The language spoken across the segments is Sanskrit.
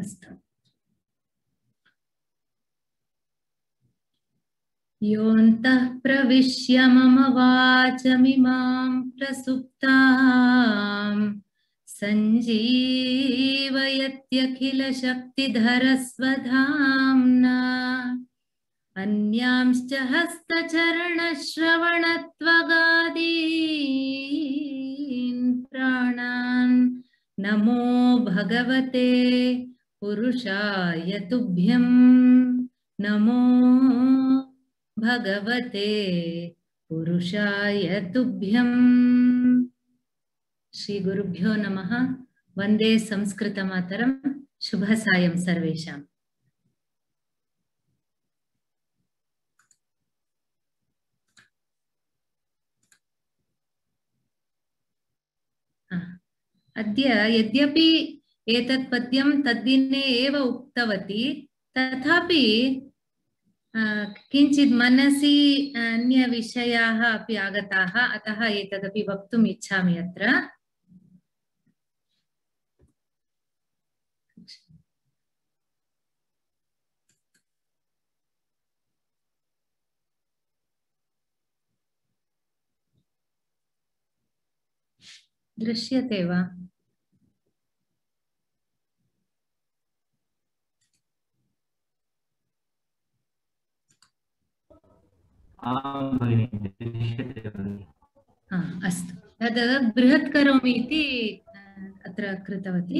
अस्तु। योऽन्तः प्रविश्य मम वाचमिमां प्रसुप्तां सञ्जीवयत्यखिलशक्तिधरस्वधाम्ना अन्यांश्च हस्तचरणश्रवणत्वगादीन् प्राणान् नमो भगवते पुरुषाय तुभ्यं। नमो भगवते पुरुषाय तुभ्यम्। श्री गुरुभ्यो नमः। वंदे संस्कृतमातरम्। शुभ सायं सर्वेषाम्। अद्य यद्यपि एतत् पद्यं तद्दिने एव उक्तवती, तथापि किंचित् मनसि अन्यविषयाः अपि आगताः, अतः एतदपि वक्तुम् इच्छामि अत्र। दृश्यते वा? अस्तु, तद् बृहत् करोमि इति अत्र कृतवती।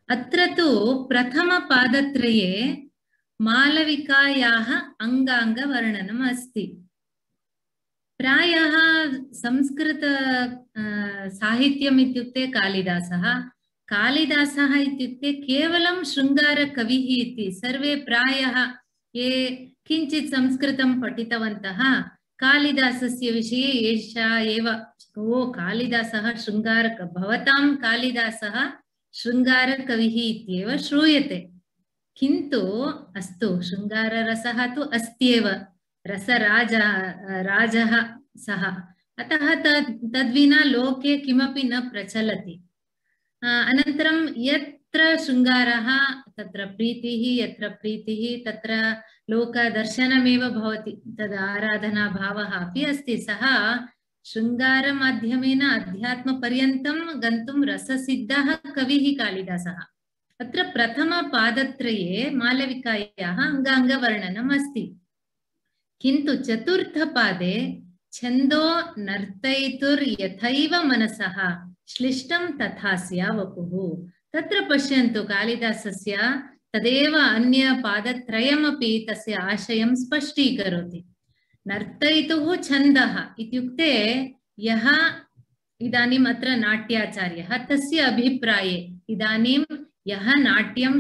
अत्र तु प्रथमपादत्रये मालविकायाः अङ्गाङ्गवर्णनम् अस्ति। प्रायः संस्कृत साहित्यम् इत्युक्ते कालिदासः, कालिदासः इत्युक्ते केवलं शृङ्गारकविः इति सर्वे प्रायः ये किञ्चित् संस्कृतं पठितवन्तः कालिदासस्य विषये एषा एव, ओ कालिदासः भवतां कालिदासः शृङ्गारकविः इत्येव श्रूयते। किन्तु अस्तु, शृङ्गाररसः तु अस्त्येव, रसराजः सः, अतः तद्विना लोके किमपि न प्रचलति। अनन्तरं यत्र शृङ्गारः तत्र प्रीतिः, यत्र प्रीतिः तत्र लोकदर्शनमेव भवति, तद् आराधनाभावः अपि अस्ति। सः शृङ्गारमाध्यमेन अध्यात्मपर्यन्तं गन्तुं रससिद्धः कविः कालिदासः। अत्र प्रथमपादत्रये मालविकायाः अङ्गाङ्गवर्णनम् अस्ति, किन्तु चतुर्थपादे छन्दो नर्तयितुर्यथैव मनसः श्लिष्टं तथा स्या वपुः। तत्र पश्यन्तु, कालिदासस्य तदेव अन्यपादत्रयमपि तस्य आशयं स्पष्टीकरोति। नर्तयितुः छन्दः इत्युक्ते यः इदानीम् अत्र नाट्याचार्यः, तस्य अभिप्राये इदानीं यः नाट्यं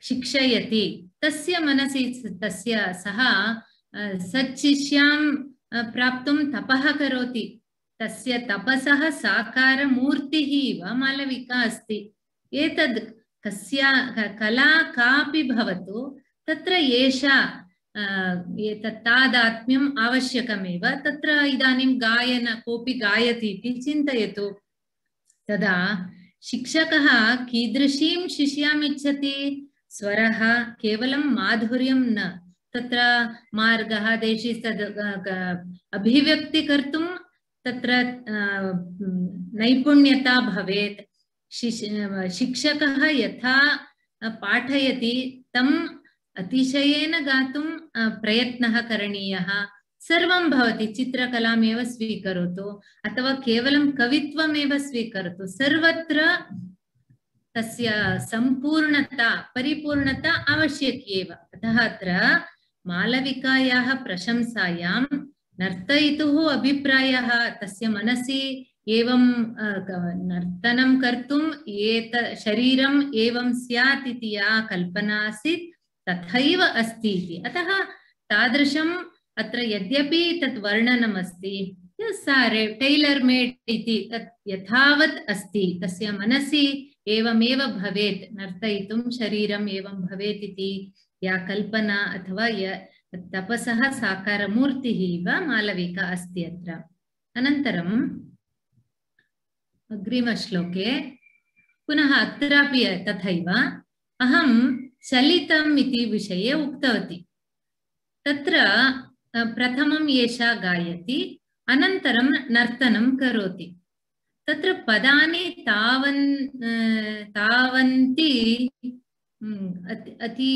शिक्षयति तस्य मनसि तस्य सः सच्शिष्यां प्राप्तुं तपः करोति। तस्य तपसः साकारमूर्तिः इव मालविका अस्ति। एतद् कला कापि भवतु, तत्र एषा एतत् तादात्म्यम् आवश्यकमेव। तत्र इदानीं कोऽपि गायति इति चिन्तयतु, तदा शिक्षकः कीदृशीं शिष्याम् इच्छति? स्वरः केवलं माधुर्यं न, तत्र मार्गः देशि अभिव्यक्ति कर्तुं तत्र नैपुण्यता भवेत्। शिक्षकः यथा पाठयति तम् अतिशयेन गातुं प्रयत्नः करणीयः। सर्वं भवति, चित्रकलामेव स्वीकरोतु अथवा केवलं कवित्वमेव स्वीकरोतु, सर्वत्र तस्य संपूर्णता परिपूर्णता आवश्यकी एव। अतः अत्र मालविकायाः प्रशंसायां नर्तयितुः अभिप्रायः तस्य मनसि एवं नर्तनं कर्तुं शरीरम् एवं स्यात् इति या कल्पना आसीत् तथैव अस्ति इति। अतः तादृशम् अत्र यद्यपि तत् वर्णनम् अस्ति, टेलर् मेड् इति तत् यथावत् अस्ति, तस्य मनसि एवमेव भवेत्, नर्तयितुं शरीरम् एवं भवेत् इति या कल्पना अथवा तपसः साकारमूर्तिः इव मालविका अस्ति अत्र। अनन्तरम् अग्रिमश्लोके पुनः अत्रापि तथैव अहं चलितम् इति विषये उक्तवती। तत्र प्रथमं एषा गायति, अनन्तरं नर्तनं करोति। तत्र पदानि तावन्ति अति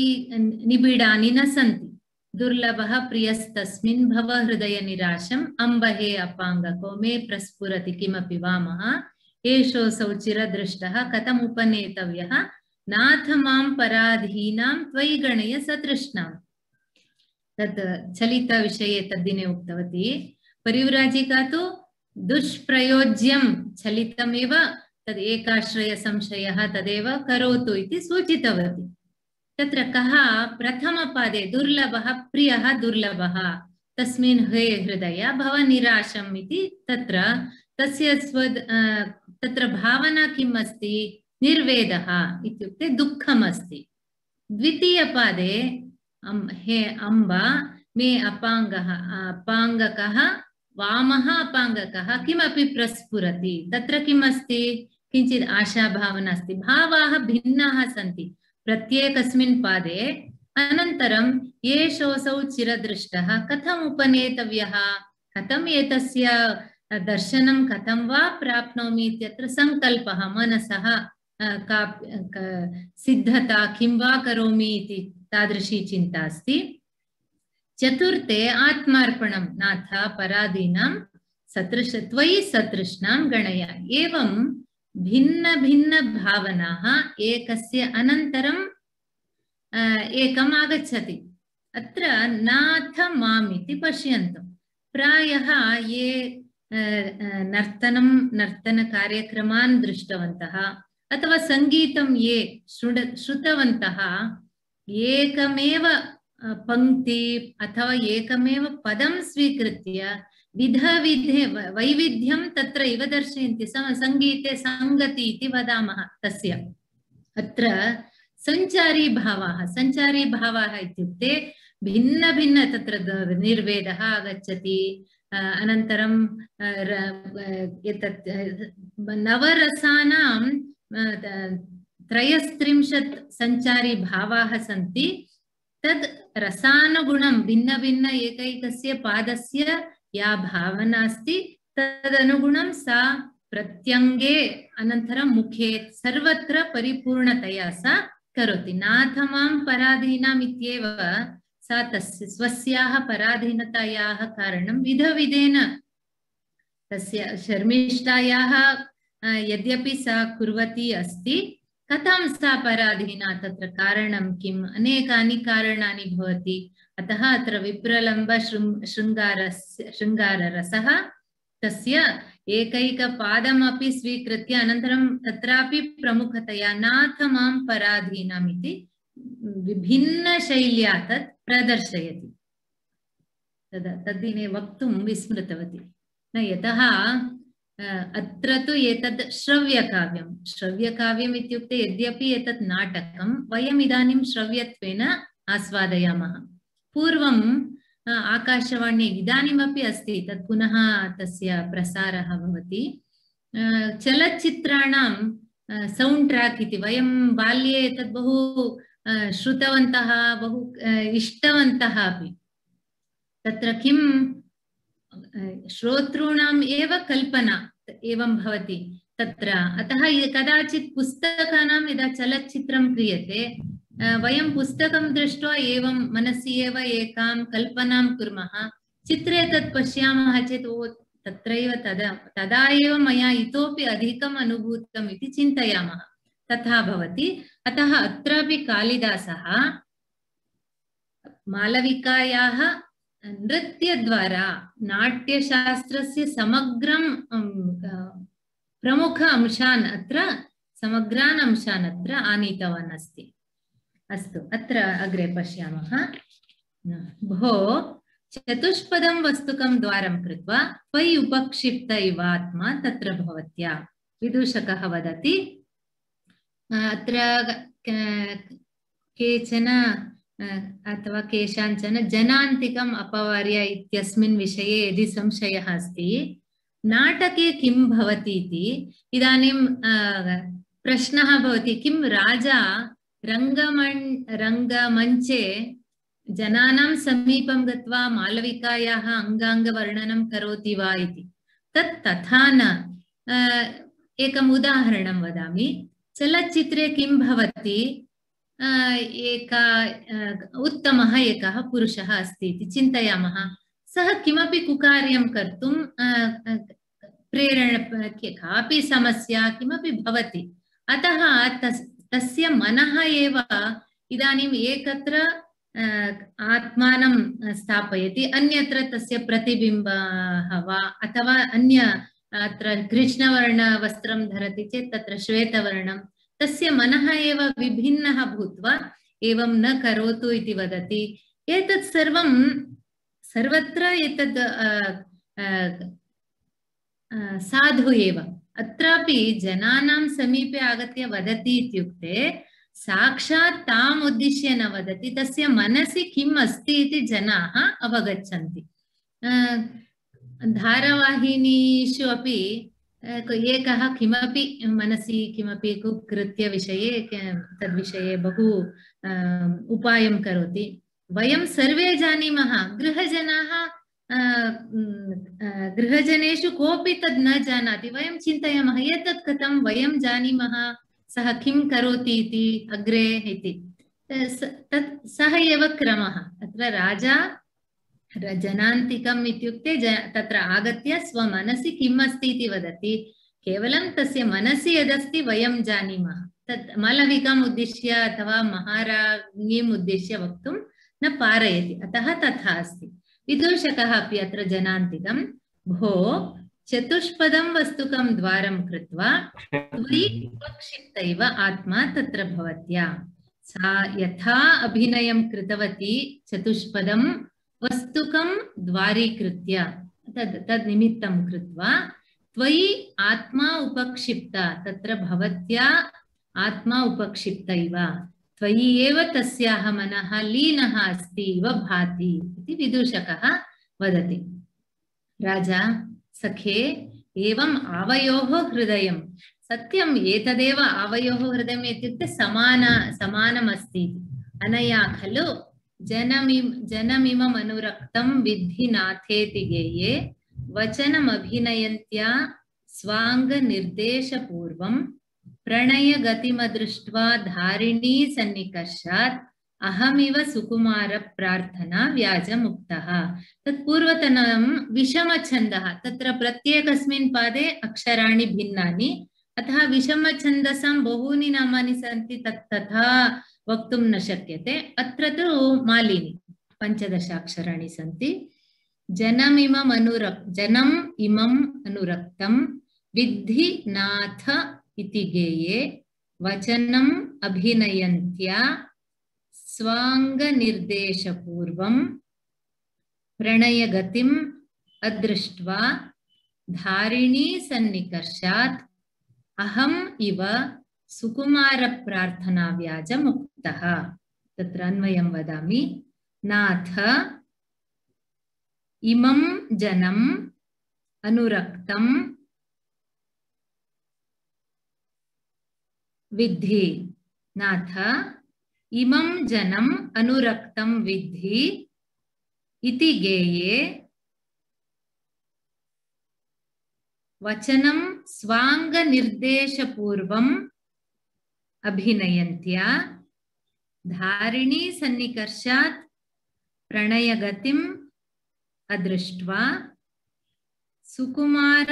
निबिडानि न सन्ति। दुर्लभः प्रियस्तस्मिन् भव हृदय निराशम् अम्बहे अपाङ्गको मे प्रस्फुरति किमपि वामः एषोऽसौ चिरदृष्टः कथमुपनेतव्यः नाथ मां पराधीनां त्वयि गणय सतृष्णाम्। तत् चलितविषये तद्दिने उक्तवती। परिव्राजिका तु दुष्प्रयोज्यं चलितमेव, तद् एकाश्रय संशयः तदेव करोतु इति सूचितवती। तत्र कः प्रथमपादे दुर्लभः प्रियः दुर्लभः तस्मिन् हे हृदय भव निराशम् इति तत्र तस्य तत्र भावना किम् अस्ति? निर्वेदः इत्युक्ते दुःखम् अस्ति। द्वितीयपादे हे अम्बा मे अपाङ्गकः वामः अपाङ्गकः किमपि प्रस्फुरति। तत्र किम् अस्ति? किञ्चित् आशाभावना अस्ति। भावाः भिन्नाः सन्ति प्रत्येकस्मिन् पादे। अनन्तरं एषोऽसौ चिरदृष्टः कथम् उपनेतव्यः, कथम् एतस्य दर्शनं कथं वा प्राप्नोमि इत्यत्र सङ्कल्पः, मनसः सिद्धता किं वा करोमि इति तादृशी चिन्ता अस्ति। चतुर्थे आत्मार्पणं नाथ पराधीनां त्वयि सतृष्णां गणय। एवं भिन्न भिन्न भावनाः एकस्य अनन्तरं एकम् आगच्छति। अत्र नाथ माम् इति पश्यन्तु। प्रायः ये नर्तनकार्यक्रमान् दृष्टवन्तः अथवा सङ्गीतं ये श्रुतवन्तः एकमेव पंक्ति अथवा एकमेव पदं स्वीकृत्य वैविध्यं तत्र इव दर्शयन्ति। सङ्गीते सङ्गति इति वदामः तस्य। अत्र सञ्चारी भावाः इत्युक्ते भिन्न भिन्न तत्र निर्वेदः आगच्छति। अनन्तरं एतत् नवरसानां 33 सञ्चारी भावाः सन्ति। तद् रसानुगुणं भिन्न भिन्न एकैकस्य पादस्य या भावना अस्ति तदनुगुणं सा प्रत्यङ्गे अनन्तरं मुखे सर्वत्र परिपूर्णतया सा करोति। नाथ मां पराधीनाम् इत्येव सा तस्य स्वस्याः पराधीनतायाः कारणं विधविधेन तस्य शर्मिष्ठायाः यद्यपि सा कुर्वती अस्ति, कथं सा पराधीना तत्र कारणं किम्? अनेकानि कारणानि भवति। अतः अत्र विप्रलम्ब शृङ्गाररसः तस्य एकैकपादमपि स्वीकृत्य अनन्तरं तत्रापि प्रमुखतया नाथ मां पराधीनाम् इति विभिन्नशैल्या तत् प्रदर्शयति। तद्दिने वक्तुं विस्मृतवती। न यतः अत्र तु एतद् श्रव्यकाव्यम् इत्युक्ते यद्यपि एतत् नाटकं वयम् इदानीं श्रव्यत्वेन आस्वादयामः। पूर्वम् आकाशवाणी इदानीमपि अस्ति, तत् पुनः तस्य प्रसारः भवति। चलच्चित्राणां सौण्ड् ट्राक् इति वयं बाल्ये एतत् बहु श्रुतवन्तः, बहु इष्टवन्तः अपि। तत्र किं श्रोतॄणाम् एव कल्पना एवं भवति तत्र। अतः कदाचित् पुस्तकानां यदा चलच्चित्रं क्रियते वयं पुस्तकं दृष्ट्वा एवं मनसि एव एकां कल्पनां कुर्मः। चित्रे तत् पश्यामः चेत् ओ तत्रैव तदा एव मया इतोपि अधिकम् अनुभूतम् इति चिन्तयामः। तथा भवति। अतः अत्रापि कालिदासः मालविकायाः नृत्यद्वारा नाट्यशास्त्रस्य समग्रं प्रमुख अंशान् समग्रान् अंशान् अत्र आनीतवान् अस्ति। अस्तु, अत्र अग्रे पश्यामः। भो चतुष्पदं वस्तुकं द्वारं कृत्वा त्वयि उपक्षिप्त इवात्मा तत्र भवत्या। विदूषकः वदति अत्र केचन अथवा केषाञ्चन जनान्तिकम् अपवार्य इत्यस्मिन् विषये यदि संशयः अस्ति, नाटके किं भवति इति इदानीं प्रश्नः भवति किं राजा रङ्गमञ्चे जनानां समीपं गत्वा मालविकायाः अङ्गाङ्गवर्णनं करोति वा इति। तत् तथा न। एकम् उदाहरणं वदामि। चलच्चित्रे किं भवति, उत्तमः एकः पुरुषः अस्ति इति चिन्तयामः। सः किमपि कुकार्यं कर्तुं कापि समस्या किमपि भवति। अतः तस्य मनः एव इदानीम् एकत्र आत्मानं स्थापयति, अन्यत्र तस्य प्रतिबिम्बः वा अथवा अन्य अत्र कृष्णवर्णवस्त्रं धरति चेत् तत्र श्वेतवर्णं, तस्य मनः एव विभिन्नः भूत्वा एवं न करोतु इति वदति। एतत् सर्वं सर्वत्र एतद् साधु एव। अत्रापि जनानां समीपे आगत्य वदति इत्युक्ते साक्षात् ताम् उद्दिश्य न वदति, तस्य मनसि किम् अस्ति इति जनाः अवगच्छन्ति। धारावाहिनीषु अपि एकः किमपि मनसि किमपि कुकृत्यविषये तद्विषये बहु उपायं करोति। वयं सर्वे जानीमः, गृहजनेषु कोऽपि तद् न जानाति। वयं चिन्तयामः एतत् कथं वयं जानीमः, सः किं करोति इति अग्रे इति। सः एव क्रमः। अत्र राजा जनान्तिकम् इत्युक्ते तत्र आगत्य स्वमनसि किम् अस्ति इति वदति। केवलं तस्य मनसि यदस्ति वयं जानीमः, तत् मालविकाम् उद्दिश्य अथवा महाराज्ञीम् उद्दिश्य वक्तुं न पारयति। अतः तथा अस्ति। विदूषकः अपि अत्र जनान्तिकं, भो चतुष्पदं वस्तुकं द्वारं कृत्वा त्वयि उपक्षिप्तैव आत्मा तत्र भवत्या। सा यथा अभिनयं कृतवती चतुष्पदं वस्तुकं द्वारीकृत्य तद् निमित्तं कृत्वा त्वयि आत्मा उपक्षिप्ता, तत्र भवत्या आत्मा उपक्षिप्तैव, त्वयि एव तस्याः मनः लीनः अस्ति इव भाति इति विदूषकः वदति। राजा, सखे, एवम् आवयोः हृदयं, सत्यम् एतदेव आवयोः हृदयम् इत्युक्ते समानमस्ति। अनया खलु जनमिमम् अनुरक्तं विद्धि नाथेति गेये वचनमभिनयन्त्या स्वाङ्गनिर्देशपूर्वं प्रणयगतिमदृष्ट्वा धारिणी सन्निकर्षात् अहमिव सुकुमार प्रार्थना व्याजमुक्तः। तत्पूर्वतनं विषमछन्दः, तत्र प्रत्येकस्मिन् पादे अक्षराणि भिन्नानि, अतः विषमछन्दसां बहूनि नामानि सन्ति, तथा वक्तुं न शक्यते। अत्र तु मालिनी 15 अक्षराणि सन्ति। जनम् इमम् अनुरक्तं विद्धि नाथ इति गेये वचनम् अभिनयन्त्या स्वाङ्गनिर्देशपूर्वं प्रणयगतिम् अदृष्ट्वा धारिणी सन्निकर्षात् अहम् इव सुकुमार प्रार्थना व्याजमुक्तः। तत्र अन्वयं वदामि। नाथ इमं जनम् अनुरक्तं विद्धि, नाथ इमं जनम् अनुरक्तं विद्धि इति गेये वचनं स्वाङ्गनिर्देशपूर्वम् अभिनयन्त्या धारिणी सन्निकर्षात् प्रणयगतिम् अदृष्ट्वा सुकुमार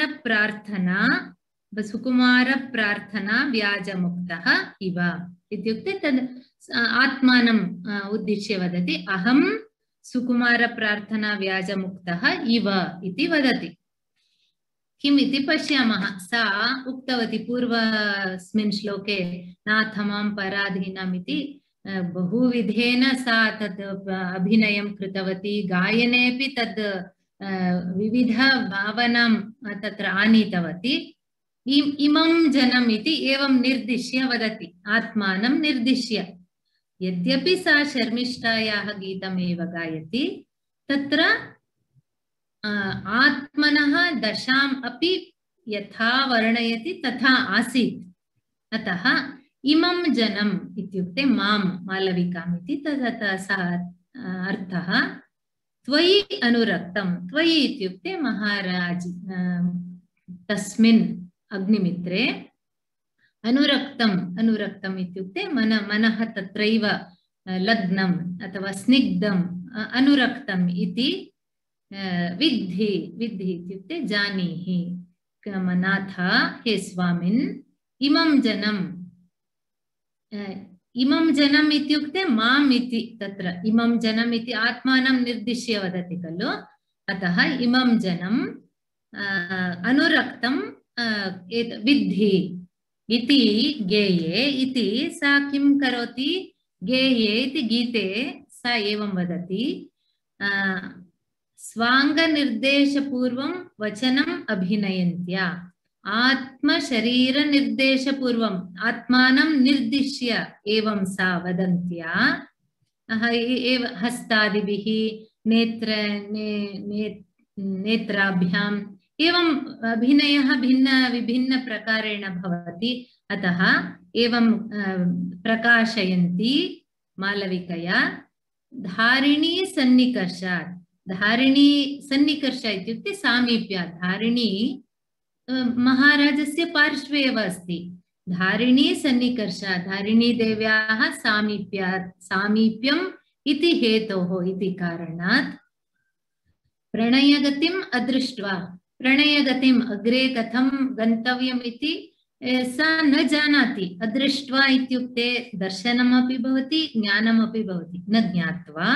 प्रार्थना व्याजमुक्तः इव इत्युक्ते तद् आत्मानम् उद्दिश्य वदति। अहं सुकुमार प्रार्थना व्याजमुक्तः इव इति वदति। किम् इति पश्यामः। सा उक्तवती पूर्वस्मिन् श्लोके नाथ मां पराधीनम् इति बहुविधेन सा तत् अभिनयं कृतवती। गायनेपि तद् विविध भावनां तत्र आनीतवती। इमं जनम् इति एवं निर्दिश्य वदति, आत्मानं निर्दिश्य। यद्यपि सा शर्मिष्ठायाः गीतमेव गायति, तत्र आत्मनः दशाम् अपि यथा वर्णयति तथा आसीत्। अतः इमं जनम् इत्युक्ते मां मालविकाम् इति तथा सः अर्थः। त्वयि अनुरक्तं, त्वयि इत्युक्ते महाराज तस्मिन् अग्निमित्रे, अनुरक्तम्, अनुरक्तम् इत्युक्ते मनः तत्रैव लग्नम् अथवा स्निग्धम्, अनुरक्तम् इति विद्धि, विद्धि इत्युक्ते जानीहि नाथ हे स्वामिन्, इमं जनम्, इमं जनम् इत्युक्ते माम् इति, तत्र इमं जनम् इति आत्मानं निर्दिश्य वदति खलु, अतः इमं जनम् अनुरक्तं विद्धि इति गेये इति सा किं करोति, गेये इति गीते सा एवं वदति, स्वाङ्गनिर्देशपूर्वं वचनम् अभिनयन्त्या, आत्मशरीरनिर्देशपूर्वम् आत्मानं निर्दिश्य एवं सा वदन्त्या, हस्तादिभिः नेत्राभ्याम् एवं अभिनयः विभिन्न प्रकारेण भवति। अतः एवं प्रकाशयन्ती मालविकया धारिणी सन्निकर्षात्, धारिणी सन्निकर्ष इत्युक्ते सामीप्यात्, धारिणी महाराजस्य पार्श्वे एव अस्ति, धारिणी सन्निकर्षात्, धारिणी देव्याः सामीप्यात्, सामीप्यम् इति हेतोः इति कारणात् प्रणयगतिम् अदृष्ट्वा, प्रणयगतिम् अग्रे कथं गन्तव्यम् इति सा न जानाति, अदृष्ट्वा इत्युक्ते दर्शनमपि भवति ज्ञानमपि भवति, न ज्ञात्वा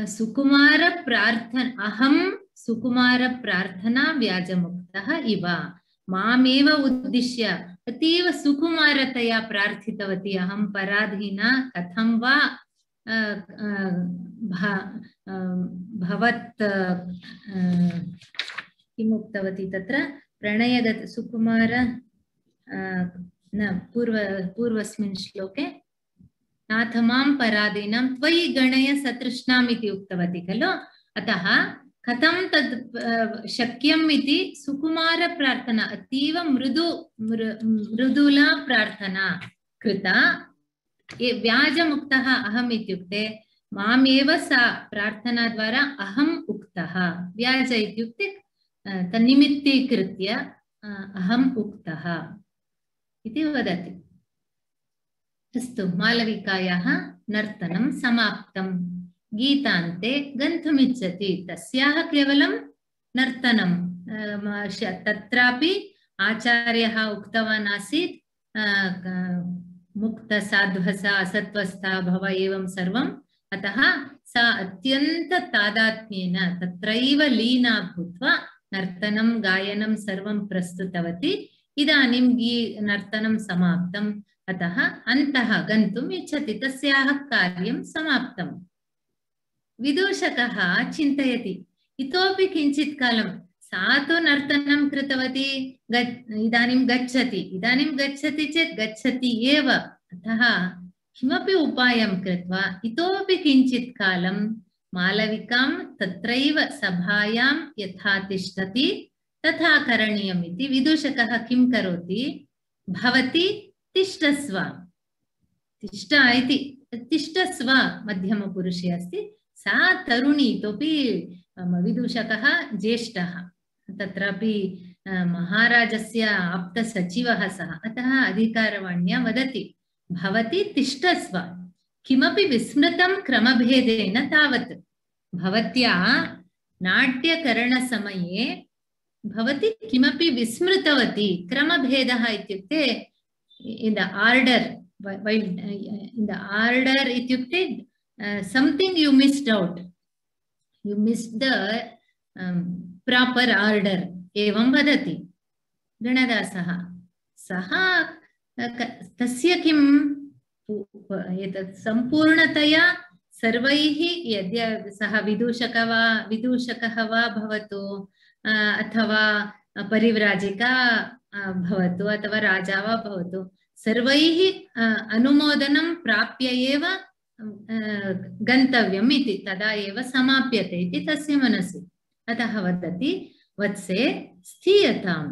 सुकुमार प्रार्थना, अहं सुकुमार प्रार्थना व्याजमुक्तः इव, मामेव उद्दिश्य अतीव सुकुमारतया प्रार्थितवती, अहं पराधीना कथं वा भवत् किमुक्तवती तत्र प्रणयगत सुकुमार न पूर्वस्मिन् श्लोके नाथ मां पराधीनां त्वयि गणय सतृष्णाम् इति उक्तवती खलु, अतः कथं तद् शक्यम् इति सुकुमार प्रार्थना, अतीव मृदुला प्रार्थना कृता, व्याजमुक्तः अहम् इत्युक्ते मामेव सा प्रार्थना द्वारा अहम् उक्तः, व्याज इत्युक्ते तन्निमित्तीकृत्य अहम् उक्तः इति वदति। अस्तु, मालविकायाः नर्तनं समाप्तं, गीतान्ते गन्तुमिच्छति, तस्याः केवलं नर्तनं, तत्रापि आचार्यः उक्तवान् आसीत् मुक्तसाध्वसा असत्वस्था भव एवं सर्वम्, अतः सा अत्यन्त तादात्म्येन तत्रैव लीना भूत्वा नर्तनं गायनं सर्वं प्रस्तुतवती। इदानीं नर्तनं समाप्तम्, अतः अन्तः गन्तुम् इच्छति, तस्याः कार्यं समाप्तम्। विदूषकः चिन्तयति इतोपि किञ्चित् कालं, सा तु नर्तनं कृतवती, इदानीं गच्छति चेत् गच्छति एव, अतः किमपि उपायं कृत्वा इतोपि किञ्चित् कालं मालविकां तत्रैव सभायां यथा तिष्ठति तथा करणीयम् इति विदूषकः किं करोति, भवती तिष्ठस्व, तिष्ठ इति, तिष्ठस्व मध्यमपुरुषे अस्ति, सा तरुणी, इतोपि विदूषकः ज्येष्ठः, तत्रापि महाराजस्य आप्तसचिवः सः, अतः अधिकारवाण्या वदति भवती तिष्ठस्व, किमपि विस्मृतं क्रमभेदेन तावत्, भवत्या नाट्यकरणसमये भवती किमपि विस्मृतवती, क्रमभेदः इत्युक्ते in the order, in the order ityukte something you missed out, you missed the proper order, evam vadati Ganadasaha, saha tasya kim etat sampurnataya सर्वैः यद्य सः विदूषकः वा भवतु अथवा परिव्राजिका भवतु अथवा राजा वा भवतु, सर्वैः अनुमोदनं प्राप्य एव गन्तव्यम् इति, तदा एव समाप्यते इति तस्य मनसि। अतः वदति वत्से स्थीयताम्,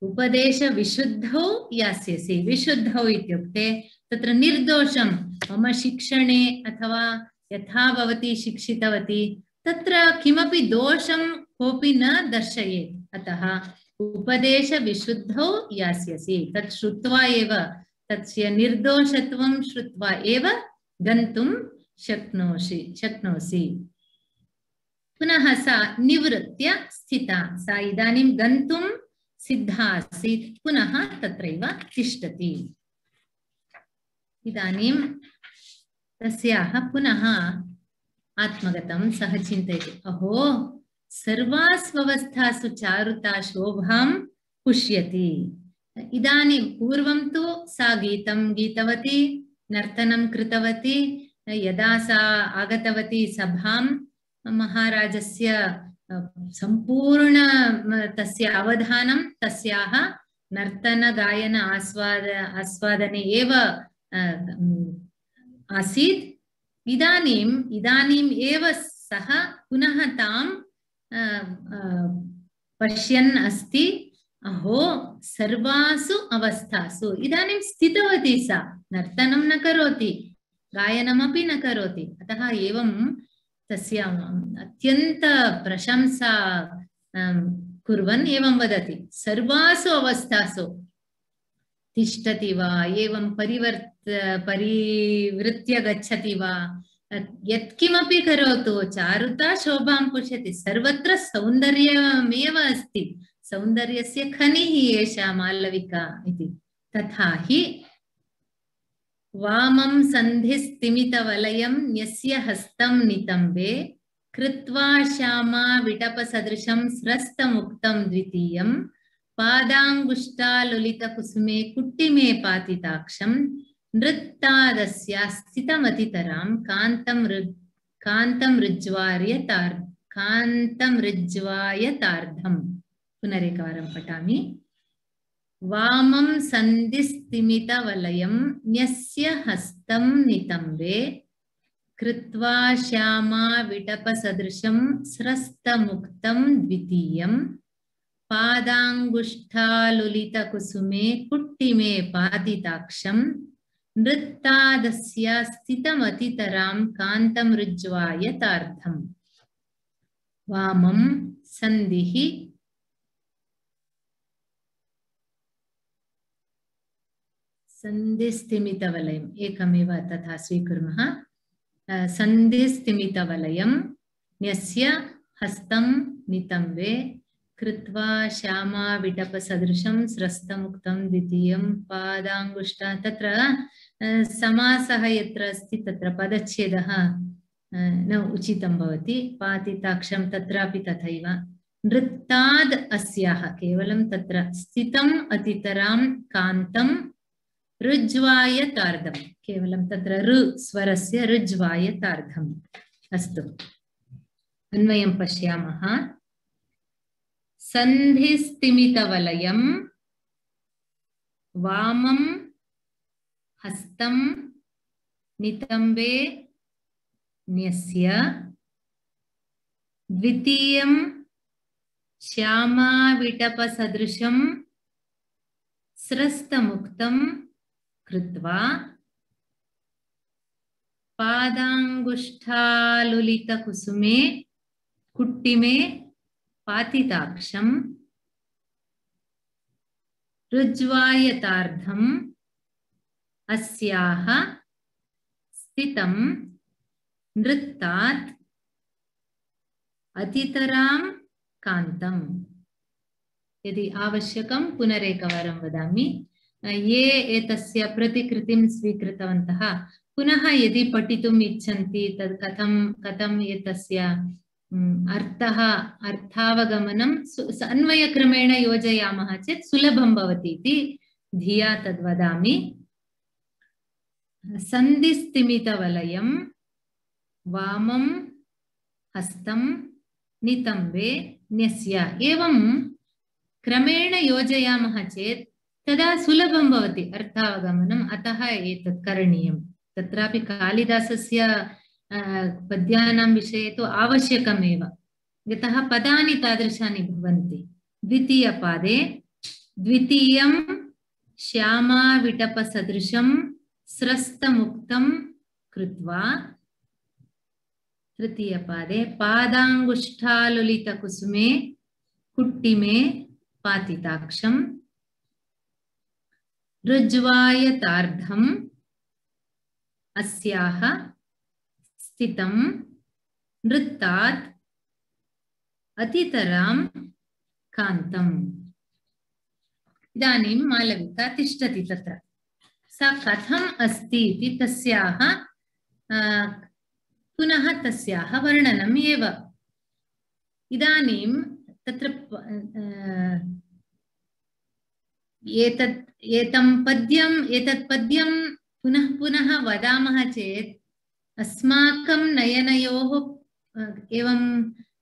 उपदेशविशुद्धौ यास्यसि। विशुद्धौ इत्युक्ते तत्र निर्दोषं मम शिक्षणे अथवा यथा भवती शिक्षितवती तत्र किमपि दोषं कोऽपि न दर्शयेत्। अतः उपदेशविशुद्धौ यास्यसि। तत् श्रुत्वा एव तस्य निर्दोषत्वं श्रुत्वा एव गन्तुं शक्नोसि। पुनः सा निवृत्य स्थिता। सा इदानीं गन्तुं सिद्धा आसीत्, पुनः तत्रैव तिष्ठति। इदानीं तस्याः पुनः आत्मगतं सः चिन्तयति, अहो सर्वास्वस्थासु चारुता शोभां पुष्यति। इदानीं पूर्वं तु सा गीतं गीतवती, नर्तनं कृतवती। यदा सा आगतवती सभां, महाराजस्य सम्पूर्ण तस्य अवधानं तस्याः नर्तनगायन आस्वादने एव आसीत्। इदानीम् एव सः पुनः तां पश्यन् अस्ति। अहो सर्वासु अवस्थासु इदानीं स्थितवती सा, नर्तनं न करोति, गायनमपि न करोति। अतः एवं तस्य अत्यन्त प्रशंसा कुर्वन् एवं वदति, सर्वासु अवस्थासु तिष्ठति वा, एवं परिवृत्य गच्छति वा, यत्किमपि करोतु चारुता शोभां पुष्यति। सर्वत्र सौन्दर्यमेव अस्ति, सौन्दर्यस्य खनिः एषा मालविका इति। तथा हि वामं सन्धिस्तिमितवलयं न्यस्य हस्तं नितम्बे कृत्वा श्यामा विटपसदृशं स्रस्तमुक्तं द्वितीयं पादाङ्गुष्ठालुलितकुसुमे कुट्टिमे पातिताक्षं नृत्तादस्या स्थितमतितरां कान्तं ऋज्वायतार्धं। पुनरेकवारं पठामि। वामं सन्धिस्तिमितवलयं न्यस्य हस्तं नितम्बे कृत्वा श्यामा विटपसदृशं स्रस्तमुक्तं द्वितीयं पादाङ्गुष्ठालुलितकुसुमे कुट्टिमे पातिताक्षं नृत्तादस्या स्थितमतितरां कान्तं ऋज्वायतार्धम्। वामं सन्धिः सन्धिस्तिमितवलयम् एकमेव तथा स्वीकुर्मः। सन्धिस्तिमितवलयं न्यस्य हस्तं नितम्बे कृत्वा श्यामा विटपसदृशं स्रस्तमुक्तं द्वितीयं पादाङ्गुष्ठा। तत्र समासः यत्र अस्ति तत्र पदच्छेदः न उचितं भवति। पातिताक्षं तत्रापि तथैव। नृत्ताद् अस्याः केवलं तत्र स्थितम् अतितरां कान्तं ऋज्वायतार्धं, केवलं तत्र ऋ स्वरस्य ऋज्वायतार्धम्। अस्तु, अन्वयं पश्यामः। सन्धिस्तिमितवलयं वामं हस्तं नितम्बे न्यस्य द्वितीयं श्यामाविटपसदृशं स्रस्तमुक्तं कृत्वा पादाङ्गुष्ठालुलितकुसुमे कुट्टिमे पातिताक्षं ऋज्वायतार्धं अस्याः स्थितं नृत्तात् अतितरां कान्तम्। यदि आवश्यकं पुनरेकवारं वदामि। ये एतस्य प्रतिकृतिं स्वीकृतवन्तः पुनः यदि पठितुम् इच्छन्ति तद् कथं एतस्य अर्थावगमनं अन्वयक्रमेण योजयामः चेत् सुलभं भवति इति धिया तद्वदामि। सन्धिस्तिमितवलयं वामं हस्तं नितम्बे न्यस्य, एवं क्रमेण योजयामः चेत् तदा सुलभं भवति अर्थावगमनम्। अतः एतत् करणीयं। तत्रापि कालिदासस्य पद्यानां विषये तु आवश्यकमेव, यतः पदानि तादृशानि भवन्ति। द्वितीयपादे द्वितीयं श्यामाविटपसदृशं स्रस्तमुक्तं कृत्वा तृतीयपादे पादाङ्गुष्ठालुलितकुसुमे कुट्टिमे पातिताक्षं ऋज्वायतार्धम् अस्याः स्थितं नृत्तात् अतितरां कान्तम्। इदानीं मालविका तिष्ठति तत्र। सा कथम् अस्ति इति तस्याः पुनः तस्याः वर्णनम् एव। इदानीं तत्र एतत् पद्यं पुनः पुनः वदामः चेत् अस्माकं नयनयोः एवं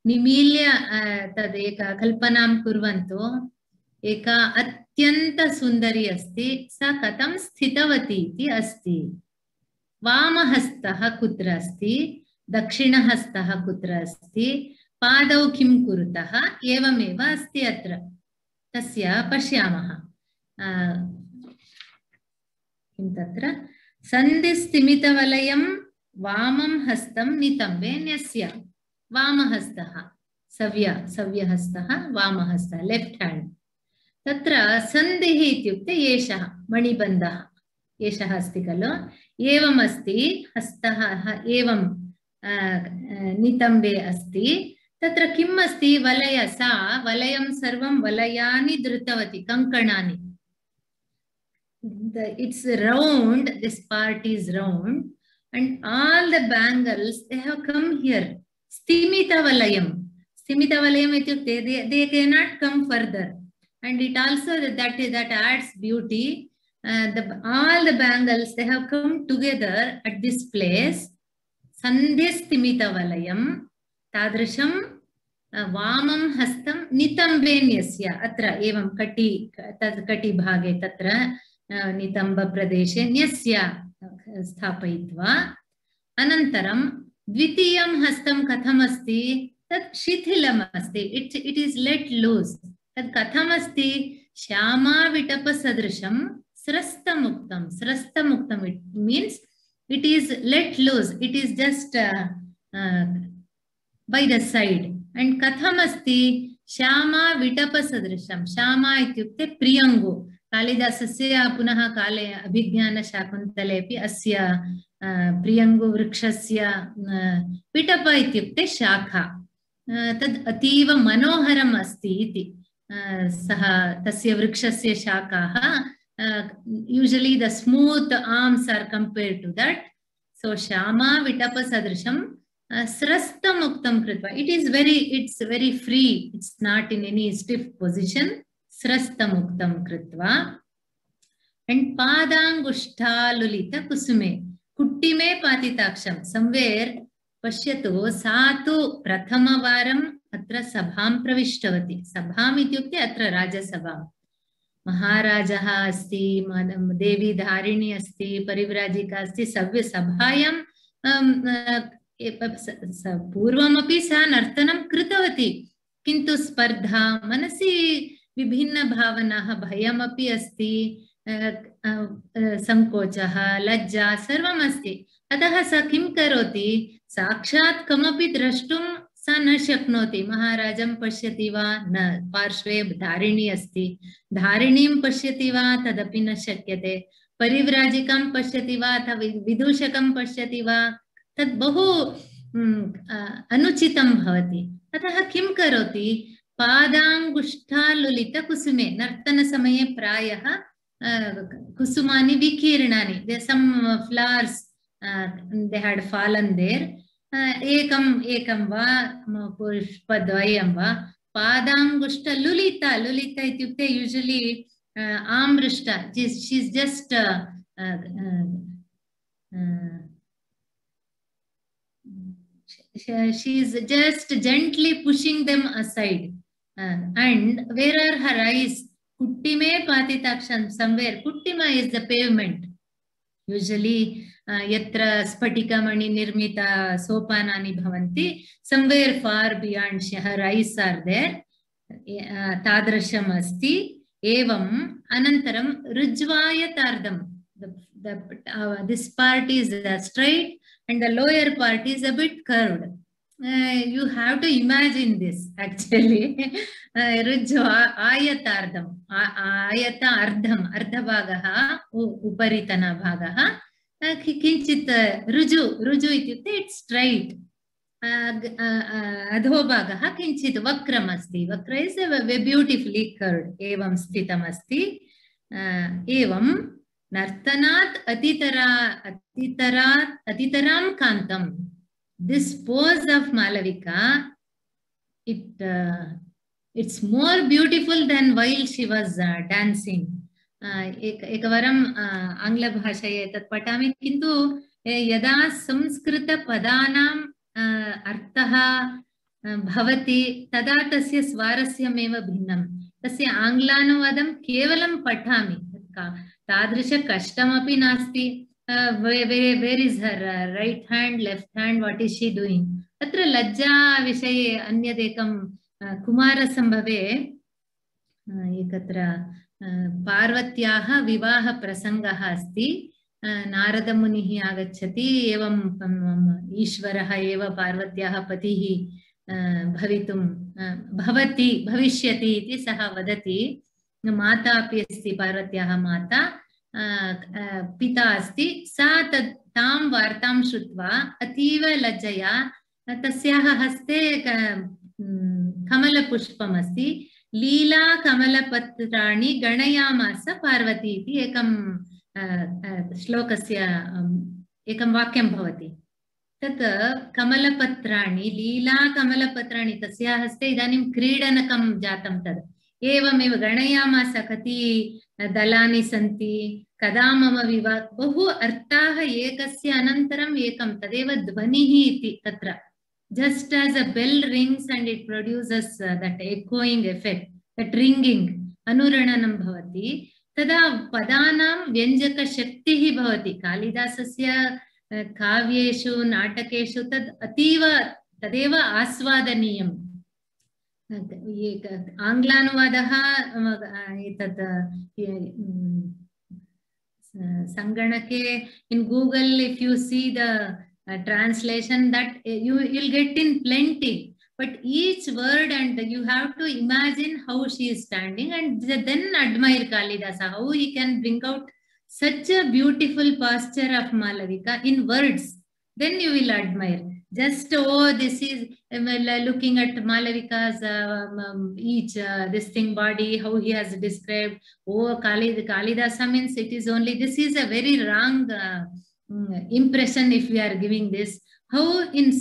निमील्य तदेक कल्पनां कुर्वन्तु। एका अत्यन्त सुन्दरी अस्ति, सा कथं स्थितवती इति अस्ति। वामहस्तः कुत्र अस्ति, दक्षिणहस्तः कुत्र अस्ति, पादौ किं कुरुतः, एवमेव अस्ति अत्र। तस्य पश्यामः। किं तत्र सन्धिस्तिमितवलयं वामं हस्तं नितम्बे न्यस्य। वामहस्तः सव्यहस्तः वामहस्तः लेफ्ट हैंड। तत्र सन्धिः इत्युक्ते एषः मणिबन्धः एषः अस्ति खलु। एवम् अस्ति, हस्तः एवं नितम्बे अस्ति। तत्र किम् अस्ति, वलय, सा वलयं सर्वं वलयानि धृतवती, कङ्कणानि। It's round, this part is round, and all the bangles, they have come here. Stimita valayam ityukte they cannot come further, and it also that adds beauty. All the bangles, they have come together at this place. Sandhya stimita valayam tadrisham वामं हस्तं नितम्बेन्यस्य। अत्र एवं कटि भागे तत्र नितम्ब प्रदेशे न्यस्य स्थापयित्वा, अनन्तरं द्वितीयं हस्तं कथम् अस्ति, तत् शिथिलम् अस्ति। It is let loose. तत् कथम् अस्ति, श्यामाविटपसदृशं स्रस्तमुक्तं। स्रस्तमुक्तं, it means it is let loose, it is just by the side. And katham asti, श्यामा विटपसदृशं। श्यामा इत्युक्ते प्रियङ्गु। कालिदासस्य पुनः काले अभिज्ञानशाकुन्तलेऽपि अस्य प्रियङ्गु वृक्षस्य विटप इत्युक्ते शाखा। तद् अतीव मनोहरम् अस्ति इति। सः तस्य वृक्षस्य शाखाः usually the smooth arms are compared to that. So Shyama विटपसदृशं स्रस्तमुक्तं कृत्वा, it's very free, it's not in any stiff position. स्रस्तमुक्तं कृत्वा, and पादाङ्गुष्ठालुलित कुसुमे कुट्टिमे पातिताक्षं। somewhere पश्यतु, सा तु प्रथमवारम् अत्र सभां प्रविष्टवती। सभाम् इत्युक्ते अत्र राजसभा। महाराजः अस्ति, देवी धारिणी अस्ति, परिव्राजिका अस्ति। सभायां पूर्वमपि सा नर्तनं कृतवती, किन्तु स्पर्धा, मनसि विभिन्न भावनाः, भयमपि अस्ति, संकोचः, लज्जा सर्वम् अस्ति। अतः सा किं करोति, साक्षात् कमपि द्रष्टुं सा न शक्नोति। महाराजं पश्यति वा, न, पार्श्वे धारिणी अस्ति, धारिणीं पश्यति वा, तदपि न शक्यते। परिव्राजिकां पश्यति वा, अथवा विदूषकं पश्यति वा, तद् बहु अनुचितं भवति। अतः किं करोति, पादाङ्गुष्ठालुलित कुसुमे, नर्तनसमये प्रायः कुसुमानि विकीर्णानि, some flowers they had fallen there, एकं वा पुष्पद्वयं वा, पादाङ्गुष्ठलुलिता, लुलिता इत्युक्ते usually आमृष्टा, she's just she's just gently pushing them aside. And where are her eyes? Kuttime patitaksham. Somewhere kuttima is the pavement. Usually yatra spatikamani nirmita sopanani bhavanti. Somewhere far beyond her eyes are there. Tadrasham asti. Evam Anantaram Rijvayatardam. This part is straight and the lower part is a bit curved. You have to imagine this actually. Rijvayatardam. Ayata ardham. Ardhabhagaha uparitana bhagaha. Kinchit ruju. Ruju ityukte it's straight. अधोभागः किञ्चित् वक्रम् अस्ति. वक्र is beautifully curved. एवं स्थितम् अस्ति. एवं नर्तनात् अतितरां कान्तं. This pose of Malavika, it's more beautiful than while she was dancing. एकवारं आङ्ग्लभाषायां तत् पठामि, किन्तु यदा संस्कृतपदानां अर्थः भवति तदा तस्य स्वारस्यमेव भिन्नं. तस्य आङ्ग्लानुवादं केवलं पठामि, तादृश कष्टमपि नास्ति. where is her right hand, left hand, what is she doing? तत्र लज्जा विषये अन्यदेकं कुमारसम्भवे एकत्र पार्वत्याः विवाहप्रसङ्गः अस्ति. नारदमुनिः आगच्छति. एवं ईश्वरः एव पार्वत्याः पतिः भविष्यति इति सः वदति. माता अपि अस्ति, पार्वत्याः माता, पिता अस्ति. सा तां वार्तां श्रुत्वा अतीव लज्जया तस्याः हस्ते कमलपुष्पम् अस्ति. लीला कमलपत्राणि गणयामास पार्वती इति एकं श्लोकस्य एकं वाक्यं भवति. तत् कमलपत्राणि, लीला कमलपत्राणि, तस्याः हस्ते इदानीं क्रीडनकं जातं. तद् एवमेव गणयामास, कति दलानि सन्ति, कदा मम विवाहः, बहु अर्थाः एकस्य अनन्तरम् एकं, तदेव ध्वनिः इति. तत्र just as a bell rings and it produces that echoing effect, that ringing, anurananam bhavati, तदा पदानां व्यञ्जकशक्तिः भवति. कालिदासस्य काव्येषु नाटकेषु तद् अतीव तदेव आस्वादनीयम्. आङ्ग्लानुवादः एतत् सङ्गणके in Google, if you see the translation, that you'll get in plenty. But each word, and you have to imagine how she is standing and then admire Kalidasa, how he can bring out such a beautiful posture of Malavika in words. Then you will admire. Just, oh, this is looking at Malavika's each this thing body, how he has described. Oh, Kalidasa means it is only, this is a very wrong impression if we are giving this. How in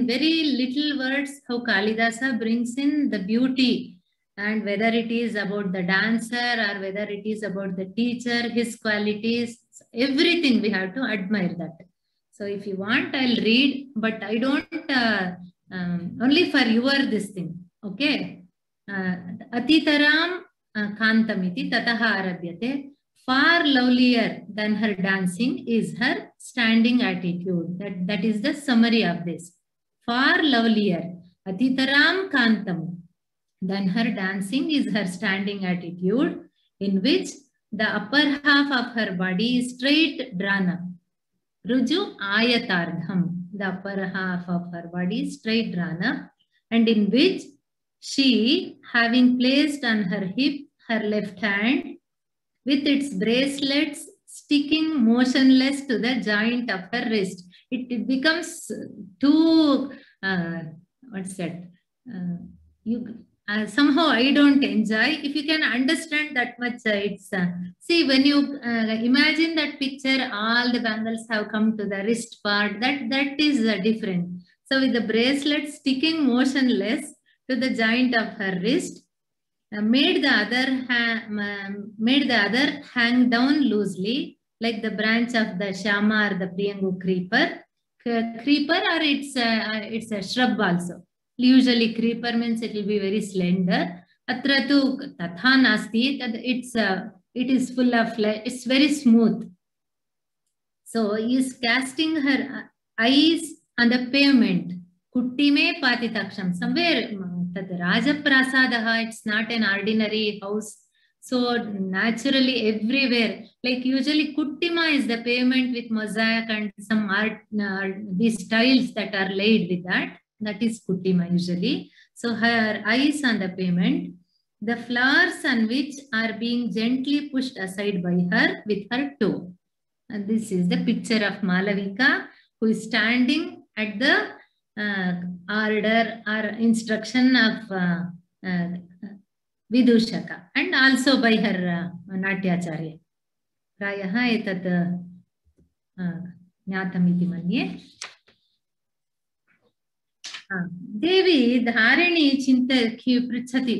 very little words, how Kalidasa brings in the beauty, and whether it is about the dancer or whether it is about the teacher, his qualities, everything we have to admire that. So if you want, I'll read, but I don't, only for your this thing, okay? Atitaram kantamiti tataha arabhyate. Far lovelier than her dancing is her standing attitude. That is the summary of this. Far lovelier, atitaram kantam, than her dancing is her standing attitude, in which the upper half of her body is straight drawn up. Ruju ayatardham, the upper half of her body is straight drawn up, and in which she, having placed on her hip her left hand, with its bracelets sticking motionless to the joint of her wrist. It becomes too, what's that? Somehow I don't enjoy. If you can understand that much, it's, see, when you imagine that picture, all the bangles have come to the wrist part, that is different. So with the bracelet sticking motionless to the joint of her wrist, made the other hang down loosely, like the branch of the shama or the priyangu creeper, or it's a shrub also. Usually creeper means it will be very slender. Atra tu tatha nasti, it is full of flesh, it's very smooth. So he is casting her eyes on the pavement. Kuttime patitaksham, somewhere that Rajaprasadaha, it's not an ordinary house. So naturally everywhere, like usually Kuttima is the pavement with mosaic and some art, these tiles that are laid with that. That is Kuttima usually. So her eyes on the pavement, the flowers on which are being gently pushed aside by her with her toe. And this is the picture of Malavika, who is standing at the order or instruction of Vidushaka, and also by her Natyacharya. प्रायः एतत् ज्ञातमिति मन्ये. देवी धारिणी पृच्छति,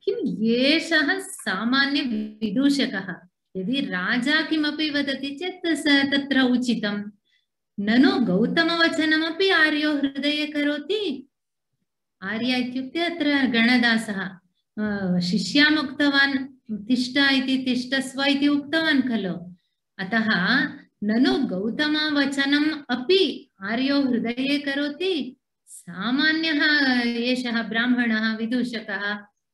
किं एषः सामान्य विदूषकः? यदि राजा किमपि वदति चेत् तत्र उचितं, ननु गौतमवचनमपि आर्यो हृदये करोति. आर्य इत्युक्ते अत्र गणदासः शिष्याम् उक्तवान् तिष्ठ इति, तिष्ठस्व इति उक्तवान् खलु. अतः ननु गौतमवचनम् अपि आर्यो हृदये करोति. सामान्यः एषः ब्राह्मणः विदूषकः,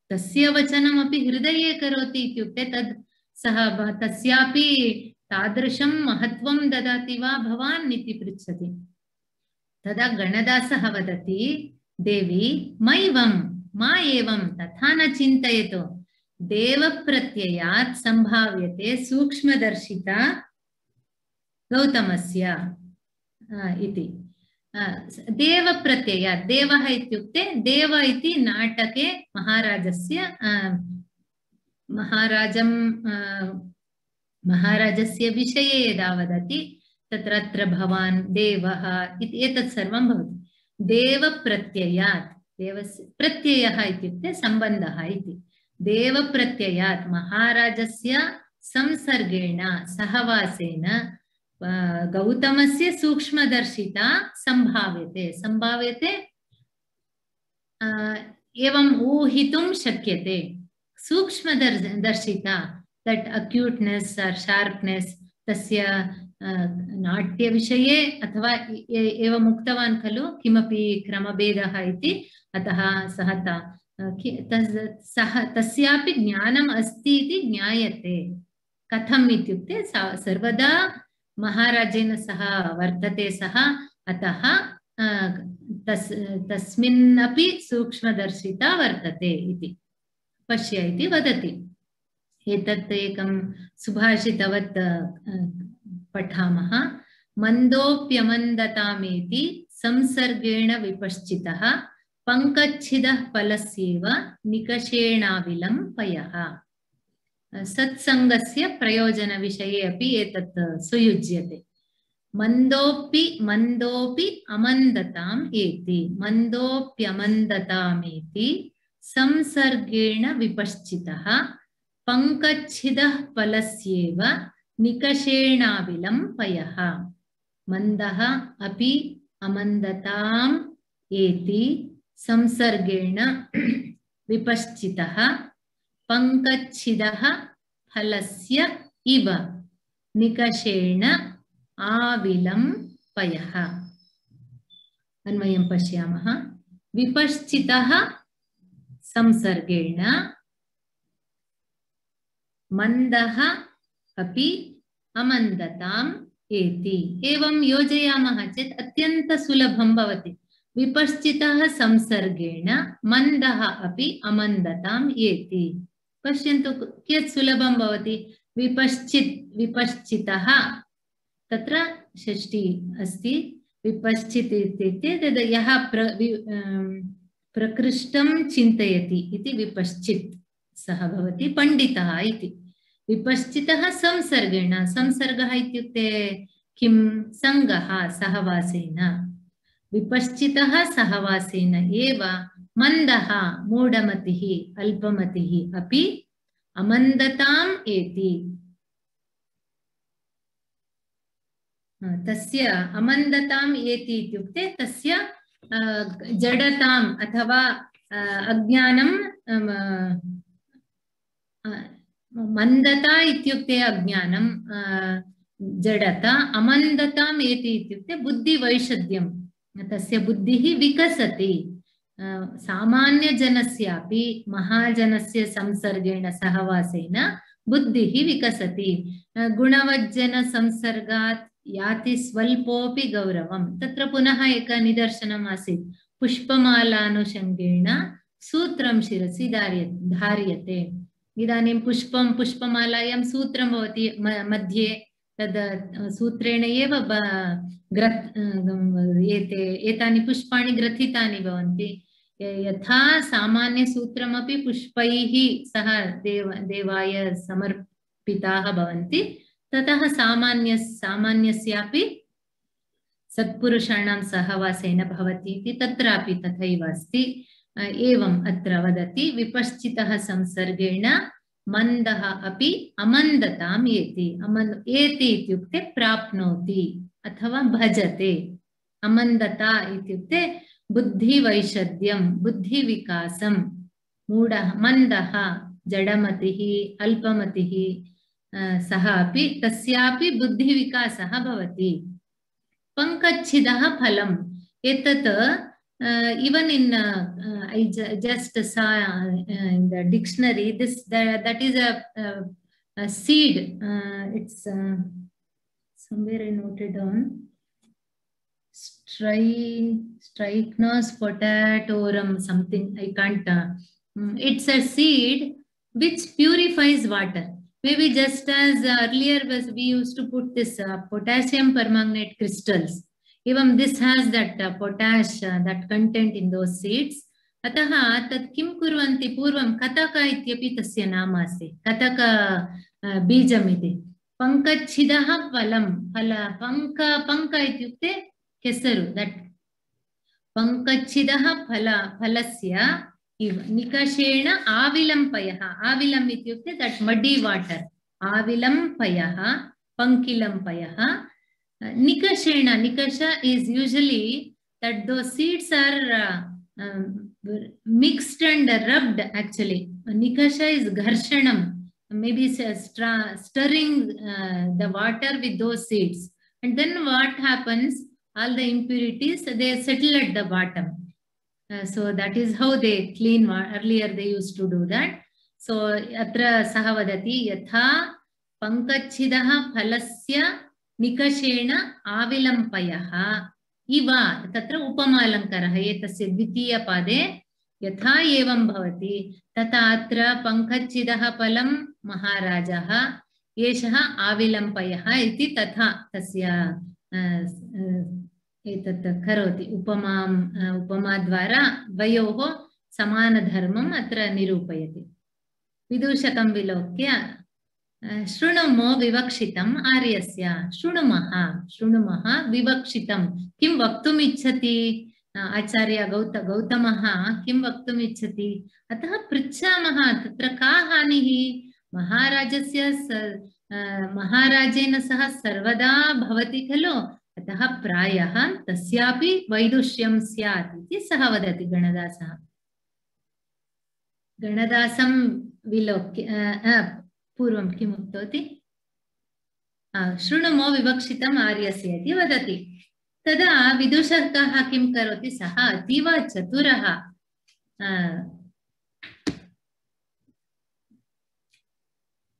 तस्य वचनमपि हृदये करोति इत्युक्ते तद् सः तस्यापि तादृशं महत्वं ददाति वा भवान् इति पृच्छति. तदा गणदासः वदति, देवी मैवं मा एवं तथा न चिन्तयतु. देवप्रत्ययात् सम्भाव्यते सूक्ष्मदर्शिता गौतमस्य इति. देवप्रत्ययात्, देवः इत्युक्ते देव इति नाटके महाराजस्य विषये यदा वदति तत्र अत्र भवान् देवः इति एतत् सर्वं भवति. देवप्रत्ययात्, देवस्य प्रत्ययः इत्युक्ते सम्बन्धः इति. देवप्रत्ययात् महाराजस्य संसर्गेण सहवासेन गौतमस्य सूक्ष्मदर्शिता सम्भाव्यते. सम्भाव्यते एवं ऊहितुं शक्यते. सूक्ष्मदर्शिता, that acuteness or sharpness, तस्य नाट्यविषये अथवा एवम् उक्तवान् खलु किमपि क्रमभेदः इति. अतः सः तस्यापि ज्ञानम् अस्ति इति ज्ञायते. कथम् इत्युक्ते सर्वदा महाराजेन सह वर्तते सः, अतः तस्मिन्नपि सूक्ष्मदर्शिता वर्तते इति पश्य इति वदति. एतत् एकं सुभाषितवत् पठामः. मन्दोऽप्यमन्दतामेति संसर्गेण विपश्चितः पङ्कच्छिदः फलस्येव निकषेणाविलं पयः. सत्सङ्गस्य प्रयोजनविषये अपि एतत् सुयुज्यते. मन्दोऽपि अमन्दताम् एति, मन्दोऽप्यमन्दतामेति संसर्गेण विपश्चितः पङ्कच्छिदः फलस्येव निकषेणाविलं पयः. मन्दः अपि अमन्दताम् एति संसर्गेण विपश्चितः पङ्कच्छिदः फलस्य इव निकषेण आविलं पयः. अन्वयं पश्यामः. विपश्चितः संसर्गेण, मन्दः अपि अमन्दताम् एति. एवं योजयामः चेत् अत्यन्त सुलभं भवति. विपश्चितः संसर्गेण, मन्दः अपि अमन्दताम् एति. पश्यन्तु कियत् सुलभं भवति. विपश्चितः, तत्र षष्ठी अस्ति. विपश्चित् इत्युक्ते तद् यः प्रकृष्टं चिन्तयति इति विपश्चित् सः भवति पण्डितः इति. विपश्चितः संसर्गेण, संसर्गः इत्युक्ते किं? सङ्गः, सहवासेन. विपश्चितः सहवासेन एव मन्दः, मूढमतिः, अल्पमतिः अपि अमन्दताम् एति. तस्य अमन्दताम् एति इत्युक्ते तस्य जडताम् अथवा अज्ञानं, मन्दता इत्युक्ते अज्ञानं, जडता. अमन्दताम् एति इत्युक्ते बुद्धिवैषद्यं, तस्य बुद्धिः विकसति. सामान्यजनस्यापि महाजनस्य संसर्गेण सहवासेन बुद्धिः विकसति। गुणवज्जनसंसर्गात् याति स्वल्पोऽपि गौरवम्। तत्र पुनः एक निदर्शनम् आसीत्। पुष्पमालानुषङ्गेण सूत्रं शिरसि धार्यते। इदानीं पुष्पमालायां सूत्रं भवति मध्ये, तद् सूत्रेण एव एतानि पुष्पाणि ग्रथितानि भवन्ति। यथा सामान्यसूत्रमपि पुष्पैः सह देवाय समर्पिताः भवन्ति, ततः सामान्यस्यापि सत्पुरुषाणां सहवासेन भवति इति तत्रापि तथैव अस्ति। एवम् अत्र वदति, विपश्चितः संसर्गेण मन्दः अपि अमन्दताम् एति। एति इत्युक्ते प्राप्नोति अथवा भजते। अमन्दता इत्युक्ते बुद्धिवैषद्यं, बुद्धिविकासं। मूढः मन्दः जडमतिः अल्पमतिः सः अपि तस्यापि बुद्धिविकासः भवति। पङ्कच्छिदः फलम्। एतत् even in I just saw in the dictionary that is a seed. It's somewhere I noted down. Strychnos potatorum something. I can't. It's a seed which purifies water. Maybe just as earlier we used to put this potassium permanganate crystals. Even this has that potash, that content in those seeds. अतः तत् किं कुर्वन्ति पूर्वं कतक इत्यपि तस्य नाम अस्ति, कतक बीजमिति। पङ्कच्छिदः फलं, पङ्क इत्युक्ते केसरु, दट् पङ्कच्छिदः फलस्य निकषेण आविलम्पयः। आविलम् इत्युक्ते दट् मड्डी वाटर्, आविलम्पयः पङ्किलम्पयः। Nikashena, nikasha is usually that those seeds are mixed and rubbed actually. Nikasha is gharshanam, maybe stirring the water with those seeds. And then what happens? All the impurities, they settle at the bottom. So that is how they clean water. Earlier they used to do that. So atra saha vadati yatha pankachhidah phalasya निकषेण आविलम्पयः इव। तत्र उपमालङ्कारः एतस्य द्वितीयपादे यथा एवं भवति तथा अत्र पङ्कच्छिदः फलं महाराजः, एषः आविलम्पयः इति तथा तस्य एतत् करोति। उपमाद्वारा द्वयोः समानधर्मम् अत्र निरूपयति। विदूषकं विलोक्य शृणुमो विवक्षितम् आर्यस्य। शृणुमः विवक्षितं। किं वक्तुम् इच्छति आचार्य गौतमः किं वक्तुम् इच्छति? अतः पृच्छामः, तत्र का हानिः? महाराजेन सह सर्वदा भवति खलु, अतः प्रायः तस्यापि वैदुष्यं स्यात् इति सः वदति गणदासः। गणदासं विलोक्य पूर्वं किम् उक्तवती? शृणुमो विवक्षितम् आर्यस्य इति वदति। तदा विदूषकः किं करोति? सः अतीव चतुरः।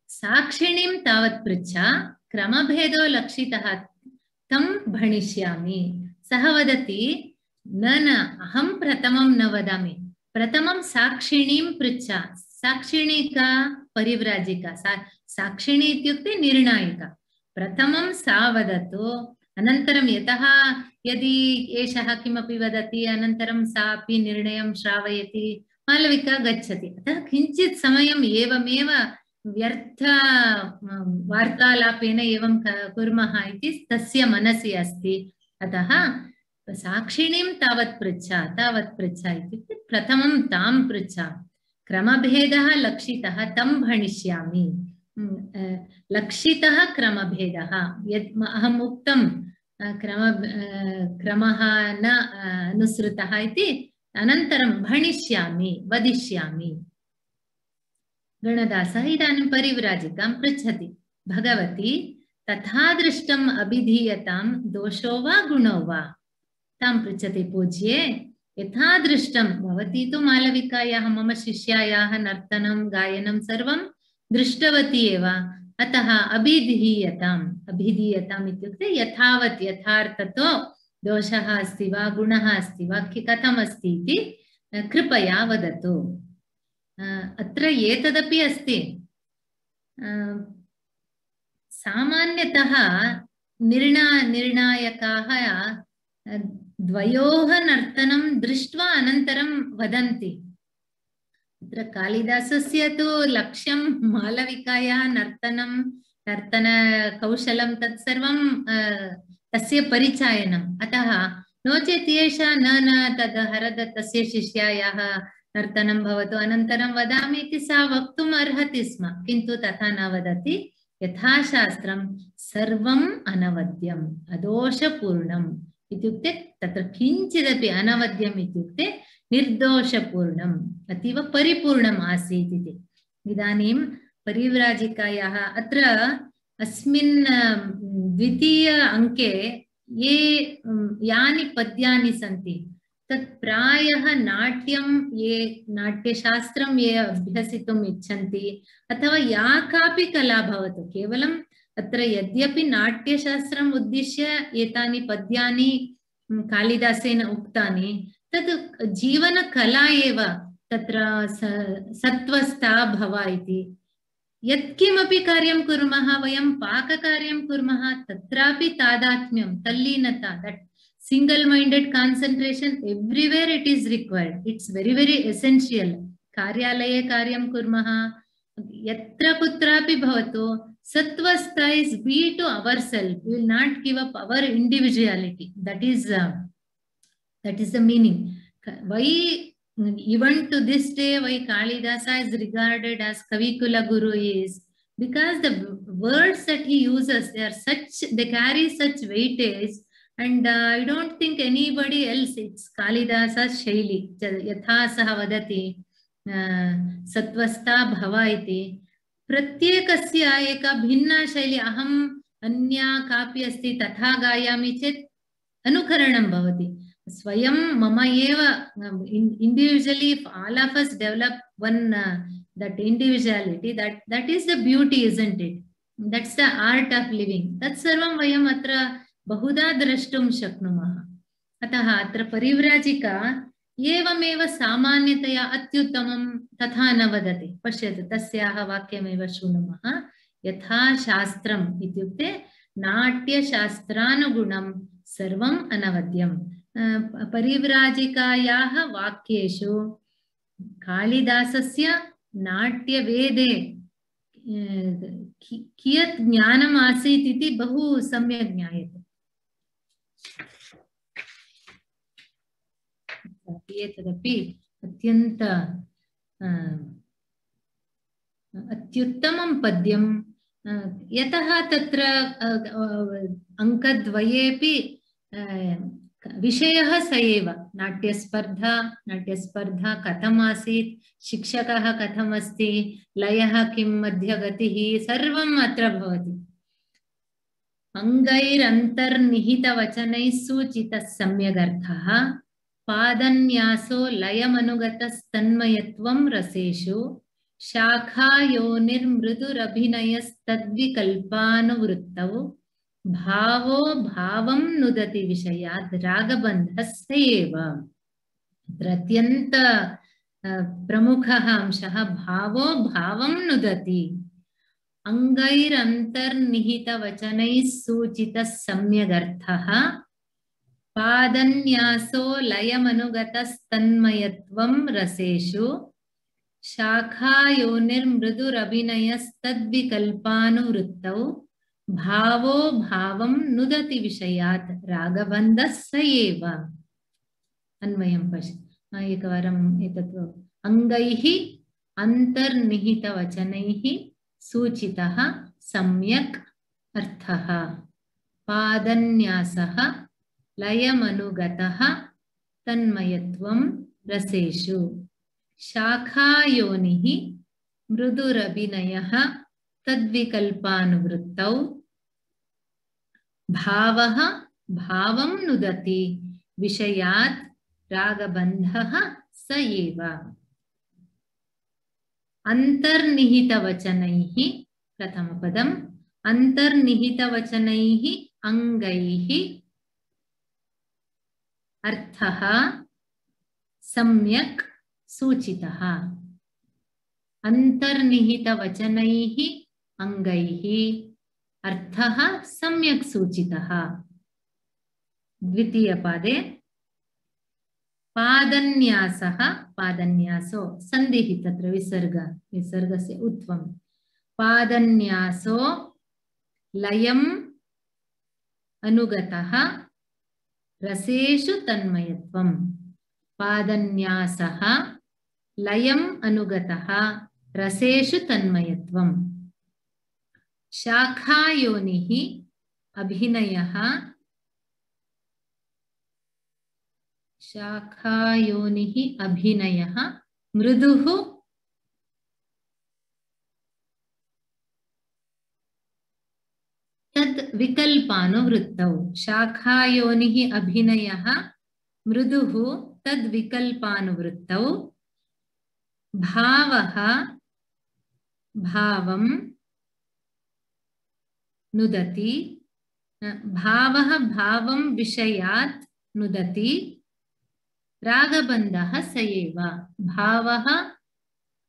साक्षिणीं तावत् पृच्छा क्रमभेदो लक्षितः तं भणिष्यामि। सः वदति न अहं प्रथमं न वदामि, प्रथमं साक्षिणीं पृच्छा। साक्षिणी का? परिव्राजिका। साक्षिणी इत्युक्ते निर्णायिका। प्रथमं सा वदतु, अनन्तरं यतः यदि एषः किमपि वदति अनन्तरं सा अपि निर्णयं श्रावयति, मालविका गच्छति। अतः किञ्चित् समयम् एवमेव व्यर्थ वार्तालापेन एवं कुर्मः इति तस्य मनसि अस्ति। अतः साक्षिणीं तावत् पृच्छा इत्युक्ते प्रथमं तां पृच्छा। क्रमभेदः लक्षितः तं भणिष्यामि। लक्षितः क्रमभेदः यत् अहम् उक्तं क्रमः न अनुसृतः इति, अनन्तरं भणिष्यामि, वदिष्यामि। गणदासः इदानीं परिव्राजिकां पृच्छति, भगवती तथा दृष्टम् अभिधीयतां दोषो वा गुणो वा? तां पृच्छति, पूज्ये यथा दृष्टं भवती तु मालविकायाः मम शिष्यायाः नर्तनं गायनं सर्वं दृष्टवती एव अतः अभिधीयताम् इत्युक्ते यथावत् यथार्थतो दोषः अस्ति वा गुणः अस्ति वा कथम् अस्ति इति कृपया वदतु। अत्र एतदपि अस्ति सामान्यतः निर्णायकाः द्वयोः नर्तनं दृष्ट्वा अनन्तरं वदन्ति। अत्र कालिदासस्य तु लक्ष्यं मालविकायाः नर्तनकौशलं तत्सर्वं तस्य परिचयनम्। अतः नो चेत् एषा न तद् हरदत्तस्य शिष्यायाः नर्तनं भवतु अनन्तरं वदामि इति सा वक्तुम् अर्हति स्म, किन्तु तथा न वदति। यथाशास्त्रं सर्वम् अनवद्यम् अदोषपूर्णम् इत्युक्ते तत्र किञ्चिदपि अनवद्यम् इत्युक्ते निर्दोषपूर्णम् अतीव परिपूर्णम् आसीत् इति। इदानीं परिव्राजिकायाः अत्र अस्मिन् द्वितीय अङ्के यानि पद्यानि सन्ति तत् प्रायः नाट्यं नाट्यशास्त्रं ये अभ्यसितुम् इच्छन्ति अथवा या कापि कला भवतु, केवलम् अत्र यद्यपि नाट्यशास्त्रम् उद्दिश्य एतानि पद्यानि कालिदासेन उक्तानि तत् जीवनकला एव। तत्र सत्त्वस्था भव इति यत्किमपि कार्यं कुर्मः, वयं पाककार्यं कुर्मः, तत्रापि तादात्म्यं तल्लीनता, that single minded concentration everywhere it is required. It's very essential. कार्यालये कार्यं कुर्मः, यत्र कुत्रापि भवतु, sattva is be to ourselves. We will not give up our individuality. That is the meaning. Why even to this day why Kalidasa is regarded as Kavikula Guru is because the words that he uses, they carry such weightage. And I don't think anybody else, it's Kalidasa's shaili. Yatha saha vadati satvastha bhava iti. Pratyekasya eka bhinna shaili aham anya kapi asti tatha gayami chet anukaranam bhavati. Swayam mama eva individually, if all of us develop one that individuality, that is the beauty, isn't it? That's the art of living. That sarvam vayam atra बहुधा द्रष्टुं शक्नुमः। अतः अत्र परिव्राजिका एवमेव सामान्यतया अत्युत्तमं तथा न वदति। पश्यतु तस्याः वाक्यमेव शृणुमः। यथा शास्त्रम् इत्युक्ते नाट्यशास्त्रानुगुणं सर्वम् अनवद्यम्। परिव्राजिकायाः वाक्येषु कालिदासस्य नाट्यवेदे कियत् ज्ञानम् आसीत् इति बहु सम्यक् ज्ञायते। एतदपि अत्युत्तमं पद्यं यतः तत्र अङ्कद्वयेपि विषयः स एव। नाट्यस्पर्धा कथम् आसीत्, शिक्षकः कथम् अस्ति, लयः किं, मध्यगतिः, सर्वम् अत्र भवति। अङ्गैरन्तर्निहितवचनैः सूचितः सम्यगर्थः, पादन्यासो लयमनुगतस्तन्मयत्वं रसेषु, शाखायोनिर्मृदुरभिनयस्तद्विकल्पानुवृत्तौ, भावो भावं नुदति विषयात् रागबन्धः स एव। अत्यन्त प्रमुखः अंशः भावो भावं नुदति। अङ्गैरन्तर्निहितवचनैः सूचितः सम्यगर्थः, पादन्यासो लयमनुगतस्तन्मयत्वं रसेषु, शाखायोनिर्मृदुरभिनयस्तद्विकल्पानुवृत्तौ, भावो भावं नुदति विषयात् रागबन्धः स एव। अन्वयं पश्य एकवारम् एतत् अङ्गैः अन्तर्निहितवचनैः सूचितः सम्यक् अर्थः, पादन्यासः लयमनुगतः तन्मयत्वं रसेषु, शाखायोनिः मृदुरभिनयः तद्विकल्पानुवृत्तौ, भावः भावं नुदति विषयात् रागबन्धः स एव। अन्तर्निहितवचनैः प्रथमपदम् अन्तर्निहितवचनैः अङ्गैः अर्थः सम्यक् सूचितः। अन्तर्निहितवचनैः अङ्गैः अर्थः सम्यक् सूचितः। द्वितीयपादे पादन्यासः पादन्यासो सन्धिः तत्र विसर्गस्य उत्वं पादन्यासो लयम् अनुगतः रसेषु तन्मयत्वं। पादन्यासः लयम् अनुगतः रसेषु तन्मयत्वं। शाखायोनिः अभिनयः शाखायोनिः अभिनयः मृदुः तद् विकल्पानुवृत्तौ। शाखायोनिः अभिनयः मृदुः तद् विकल्पानुवृत्तौ। भावः भावं नुदति भावः भावं विषयात् नुदति रागबन्धः स एव। भावः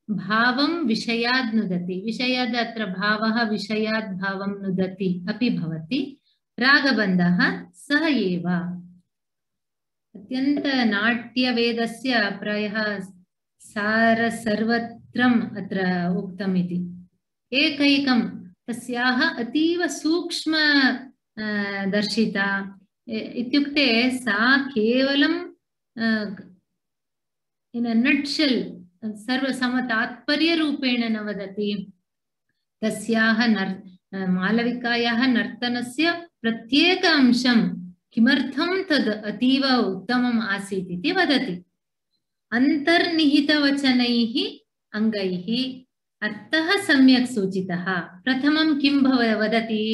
भावं विषयात् नुदति विषयात् अत्र भावः विषयात् भावं नुदति अपि भवति। रागबन्धः सः एव। अत्यन्त नाट्यवेदस्य प्रायः सार सर्वत्रम् अत्र उक्तम् इति। एकैकं तस्याः अतीव सूक्ष्म दर्शिता इत्युक्ते सा केवलं in a nutshell सर्वसमतात्पर्यरूपेण न वदति। तस्याः मालविकायाः नर्तनस्य प्रत्येक अंशं किमर्थं तद् अतीव उत्तमम् आसीत् इति वदति। अन्तर्निहितवचनैः अङ्गैः अर्थः सम्यक् सूचितः। प्रथमं किं वदति?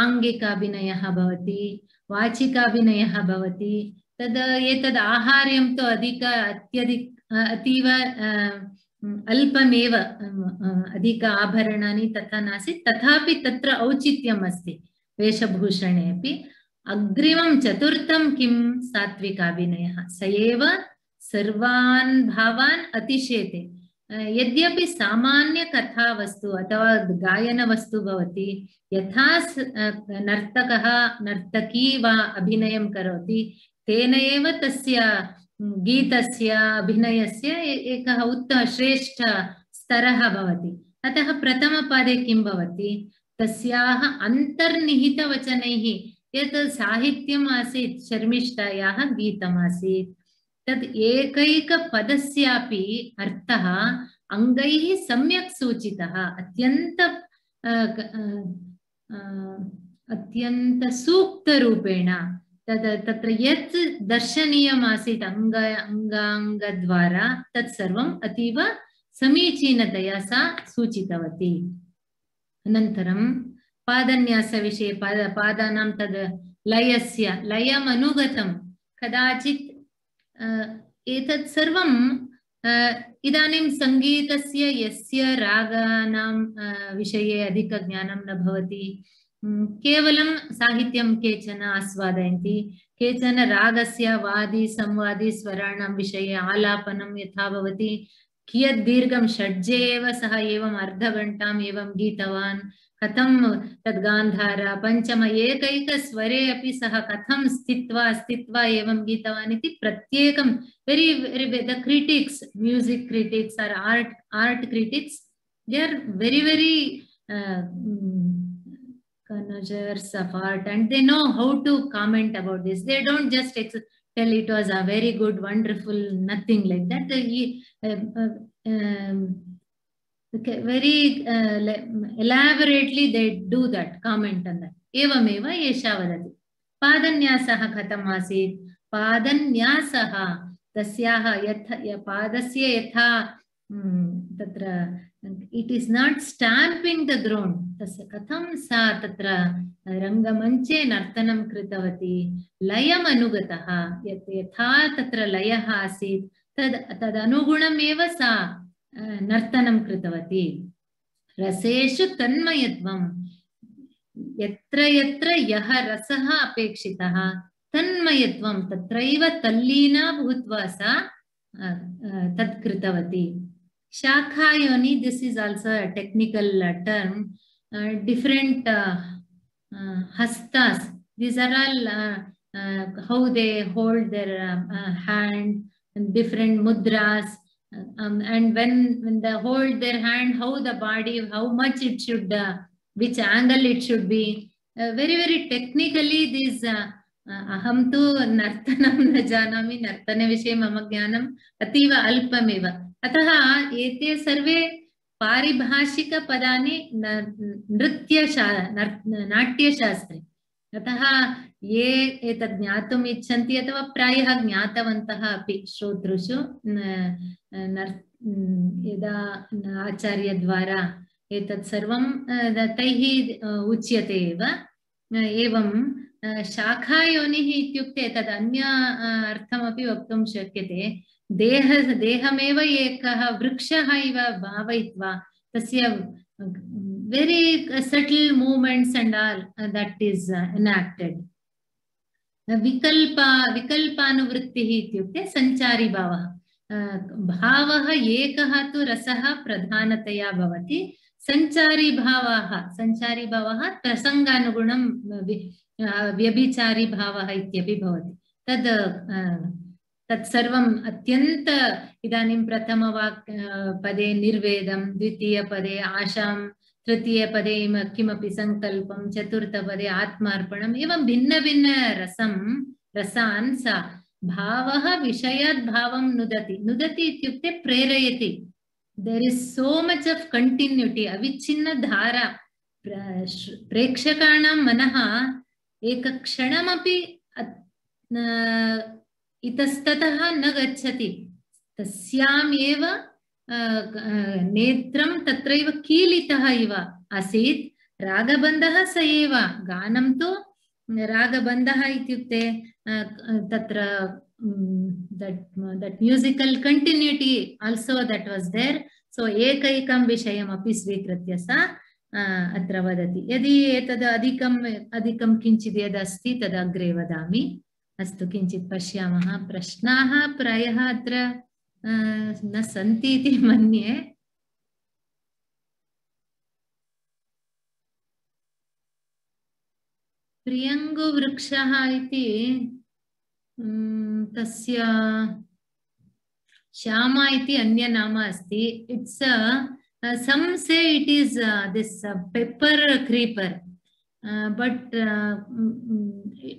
आङ्गिकाभिनयः भवति, वाचिकाभिनयः भवति। तद् एतद् आहार्यं तु अतीव अल्पमेव, अधिक आभरणानि तथा नासीत्, तथापि तत्र औचित्यम् अस्ति वेशभूषणे अपि। अग्रिमं चतुर्थं किं? सात्विकाभिनयः। स एव सर्वान् भावान् अतिशेते। यद्यपि सामान्य कथावस्तु अथवा गायनवस्तु भवति, यथा नर्तकः नर्तकी वा अभिनयं करोति तेन एव तस्य गीतस्य अभिनयस्य एकः उत्तम श्रेष्ठ स्तरः भवति। अतः प्रथमपादे किं भवति? तस्याः अन्तर्निहितवचनैः यत् साहित्यम् आसीत्, शर्मिष्ठायाः गीतमासीत्, तद् एकैकपदस्यापि अर्थः अङ्गैः सम्यक् सूचितः। अत्यन्त सूक्तरूपेण तत्र यत् दर्शनीयम् आसीत् अङ्गाङ्गद्वारा तत् सर्वम् अतीव समीचीनतया सा सूचितवती। अनन्तरं पादन्यासविषये पादानां तद् लयम् अनुगतं। कदाचित् एतत् सर्वं इदानीं सङ्गीतस्य यस्य रागानां विषये अधिकज्ञानं न भवति, केवलं साहित्यं केचन आस्वादयन्ति, केचन रागस्य वादी संवादी स्वराणां विषये आलापनं यथा भवति, कियत् दीर्घं षड्जे एव सः एवम् अर्धघण्टाम् एवं गीतवान्, कथं तद् गान्धार पञ्चम एकैकस्वरे अपि सः कथं स्थित्वा एवं गीतवान् इति प्रत्येकं the critics, music critics or art critics, they are very connoisseurs of art and they know how to comment about this. They don't just tell it was a very good, wonderful, nothing like that. Very elaborately they do that, comment on that. Evameva esha vadati. Padanyasaha katham asit. Padanyasaha tasyaha yatha padasya yatha तत्र it is not stamping the ground. तस्य कथं सा तत्र रङ्गमञ्चे नर्तनं कृतवती, लयम् अनुगतः, यथा तत्र लयः आसीत् तदनुगुणमेव सा नर्तनं कृतवती। रसेषु तन्मयत्वं, यत्र यत्र यः रसः अपेक्षितः तन्मयत्वं तत्रैव तल्लीना भूत्वा सा तत् कृतवती। Shakhayoni, this is also a technical term. Different hastas, these are all how they hold their hand, and different mudras, and when they hold their hand, how the body, how much it should, which angle it should be. Very, very technically these aham tu nartanam na janami, nartane vishe mama jnanam ativa alpamev. अतः एते सर्वे पारिभाषिक पदानि नाट्यशास्त्रे। अतः ये एतत् ज्ञातुम् इच्छन्ति अथवा प्रायः ज्ञातवन्तः अपि श्रोतृषु यदा आचार्यद्वारा एतत् सर्वं तैः उच्यते एव। एवं शाखायोनिः इत्युक्ते तद् अन्य अर्थमपि वक्तुं शक्यते। देहमेव एकः वृक्षः इव भावयित्वा तस्य very subtle movements and all that is enacted. विकल्पानुवृत्तिः इत्युक्ते संचारी भावः। भावः एकः तु रसः प्रधानतया भवति, संचारी भावः प्रसंगानुगुणं व्यभिचारी भावः इत्यपि भवति। तत्सर्वम् अत्यन्त इदानीं प्रथमपदे निर्वेदं, द्वितीयपदे आशां, तृतीयपदे किमपि संकल्पं, चतुर्थपदे आत्मार्पणम्, एवं भिन्न भिन्न रसान् सा भावः विषयात् भावं नुदति इत्युक्ते प्रेरयति। There is so much of continuity, अविच्छिन्न धारा। प्रेक्षकाणां मनः एकक्षणमपि इतस्ततः न गच्छति, तस्याम् एव नेत्रं तत्रैव कीलितः इव आसीत्। रागबन्धः स एव, गानं तु रागबन्धः इत्युक्ते तत्र that musical continuity also that was there. So एकैकं विषयमपि स्वीकृत्य सा अत्र वदति। यदि एतद् अधिकं किञ्चित् यदस्ति तद् अग्रे वदामि। अस्तु, किञ्चित् पश्यामः। प्रश्नाः प्रायः अत्र न सन्ति इति मन्ये। प्रियङ्गुवृक्षः इति तस्य श्यामा इति अन्य नाम अस्ति। It's some say it is this pepper creeper, but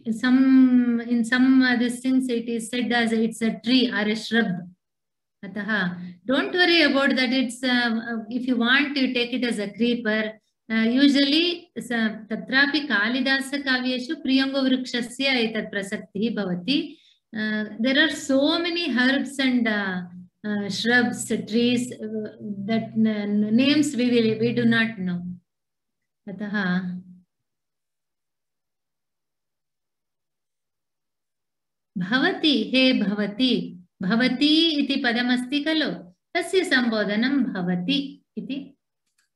in some these things it is said as it's a tree or a shrub. Atah, don't worry about that. It's if you want to take it as a creeper. Usually tatrapi Kalidasa kavyeshu priyango vrikshasya etat prasaktihi bhavati. There are so many herbs and shrubs, trees that names we do not know. Ataha bhavati, he bhavati, bhavati iti padamasti khalo, tasya sambodhanam bhavati iti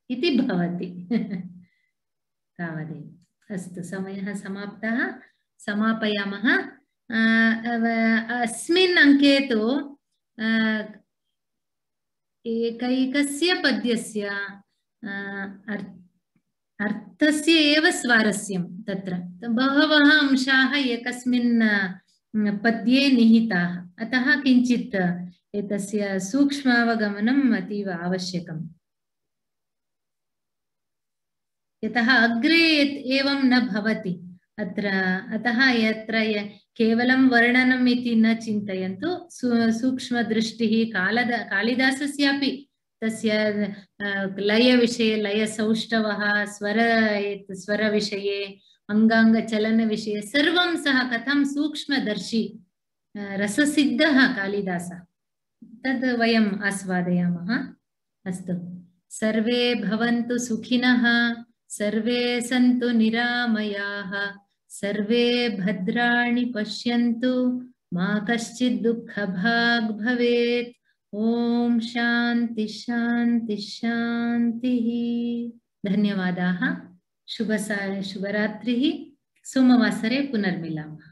bhavati. तावदेव। अस्तु, समयः समाप्तः, समापयामः। अस्मिन् अङ्के तु एकैकस्य पद्यस्य अर्थस्य एव स्वारस्यं। तत्र बहवः अंशाः एकस्मिन् पद्ये निहिताः, अतः किञ्चित् एतस्य सूक्ष्मावगमनम् अतीव आवश्यकम्। यतः अग्रे एवं न भवति अत्र, अतः यत्र केवलं वर्णनम् इति न चिन्तयन्तु। सूक्ष्मदृष्टिः कालिदासस्यापि तस्य लयविषये, लयसौष्ठवः, स्वरविषये, अङ्गाङ्गचलनविषये सर्वं सः कथं सूक्ष्मदर्शी, रससिद्धः कालिदासः। तद् वयम् आस्वादयामः। अस्तु, सर्वे भवन्तु सुखिनः, सर्वे सन्तु निरामयाः, सर्वे भद्राणि पश्यन्तु, मा कश्चित् दुःखभाग् भवेत्। ॐ शान्ति शान्ति शान्तिः। धन्यवादाः। शुभरात्रिः। सोमवासरे पुनर्मिलामः।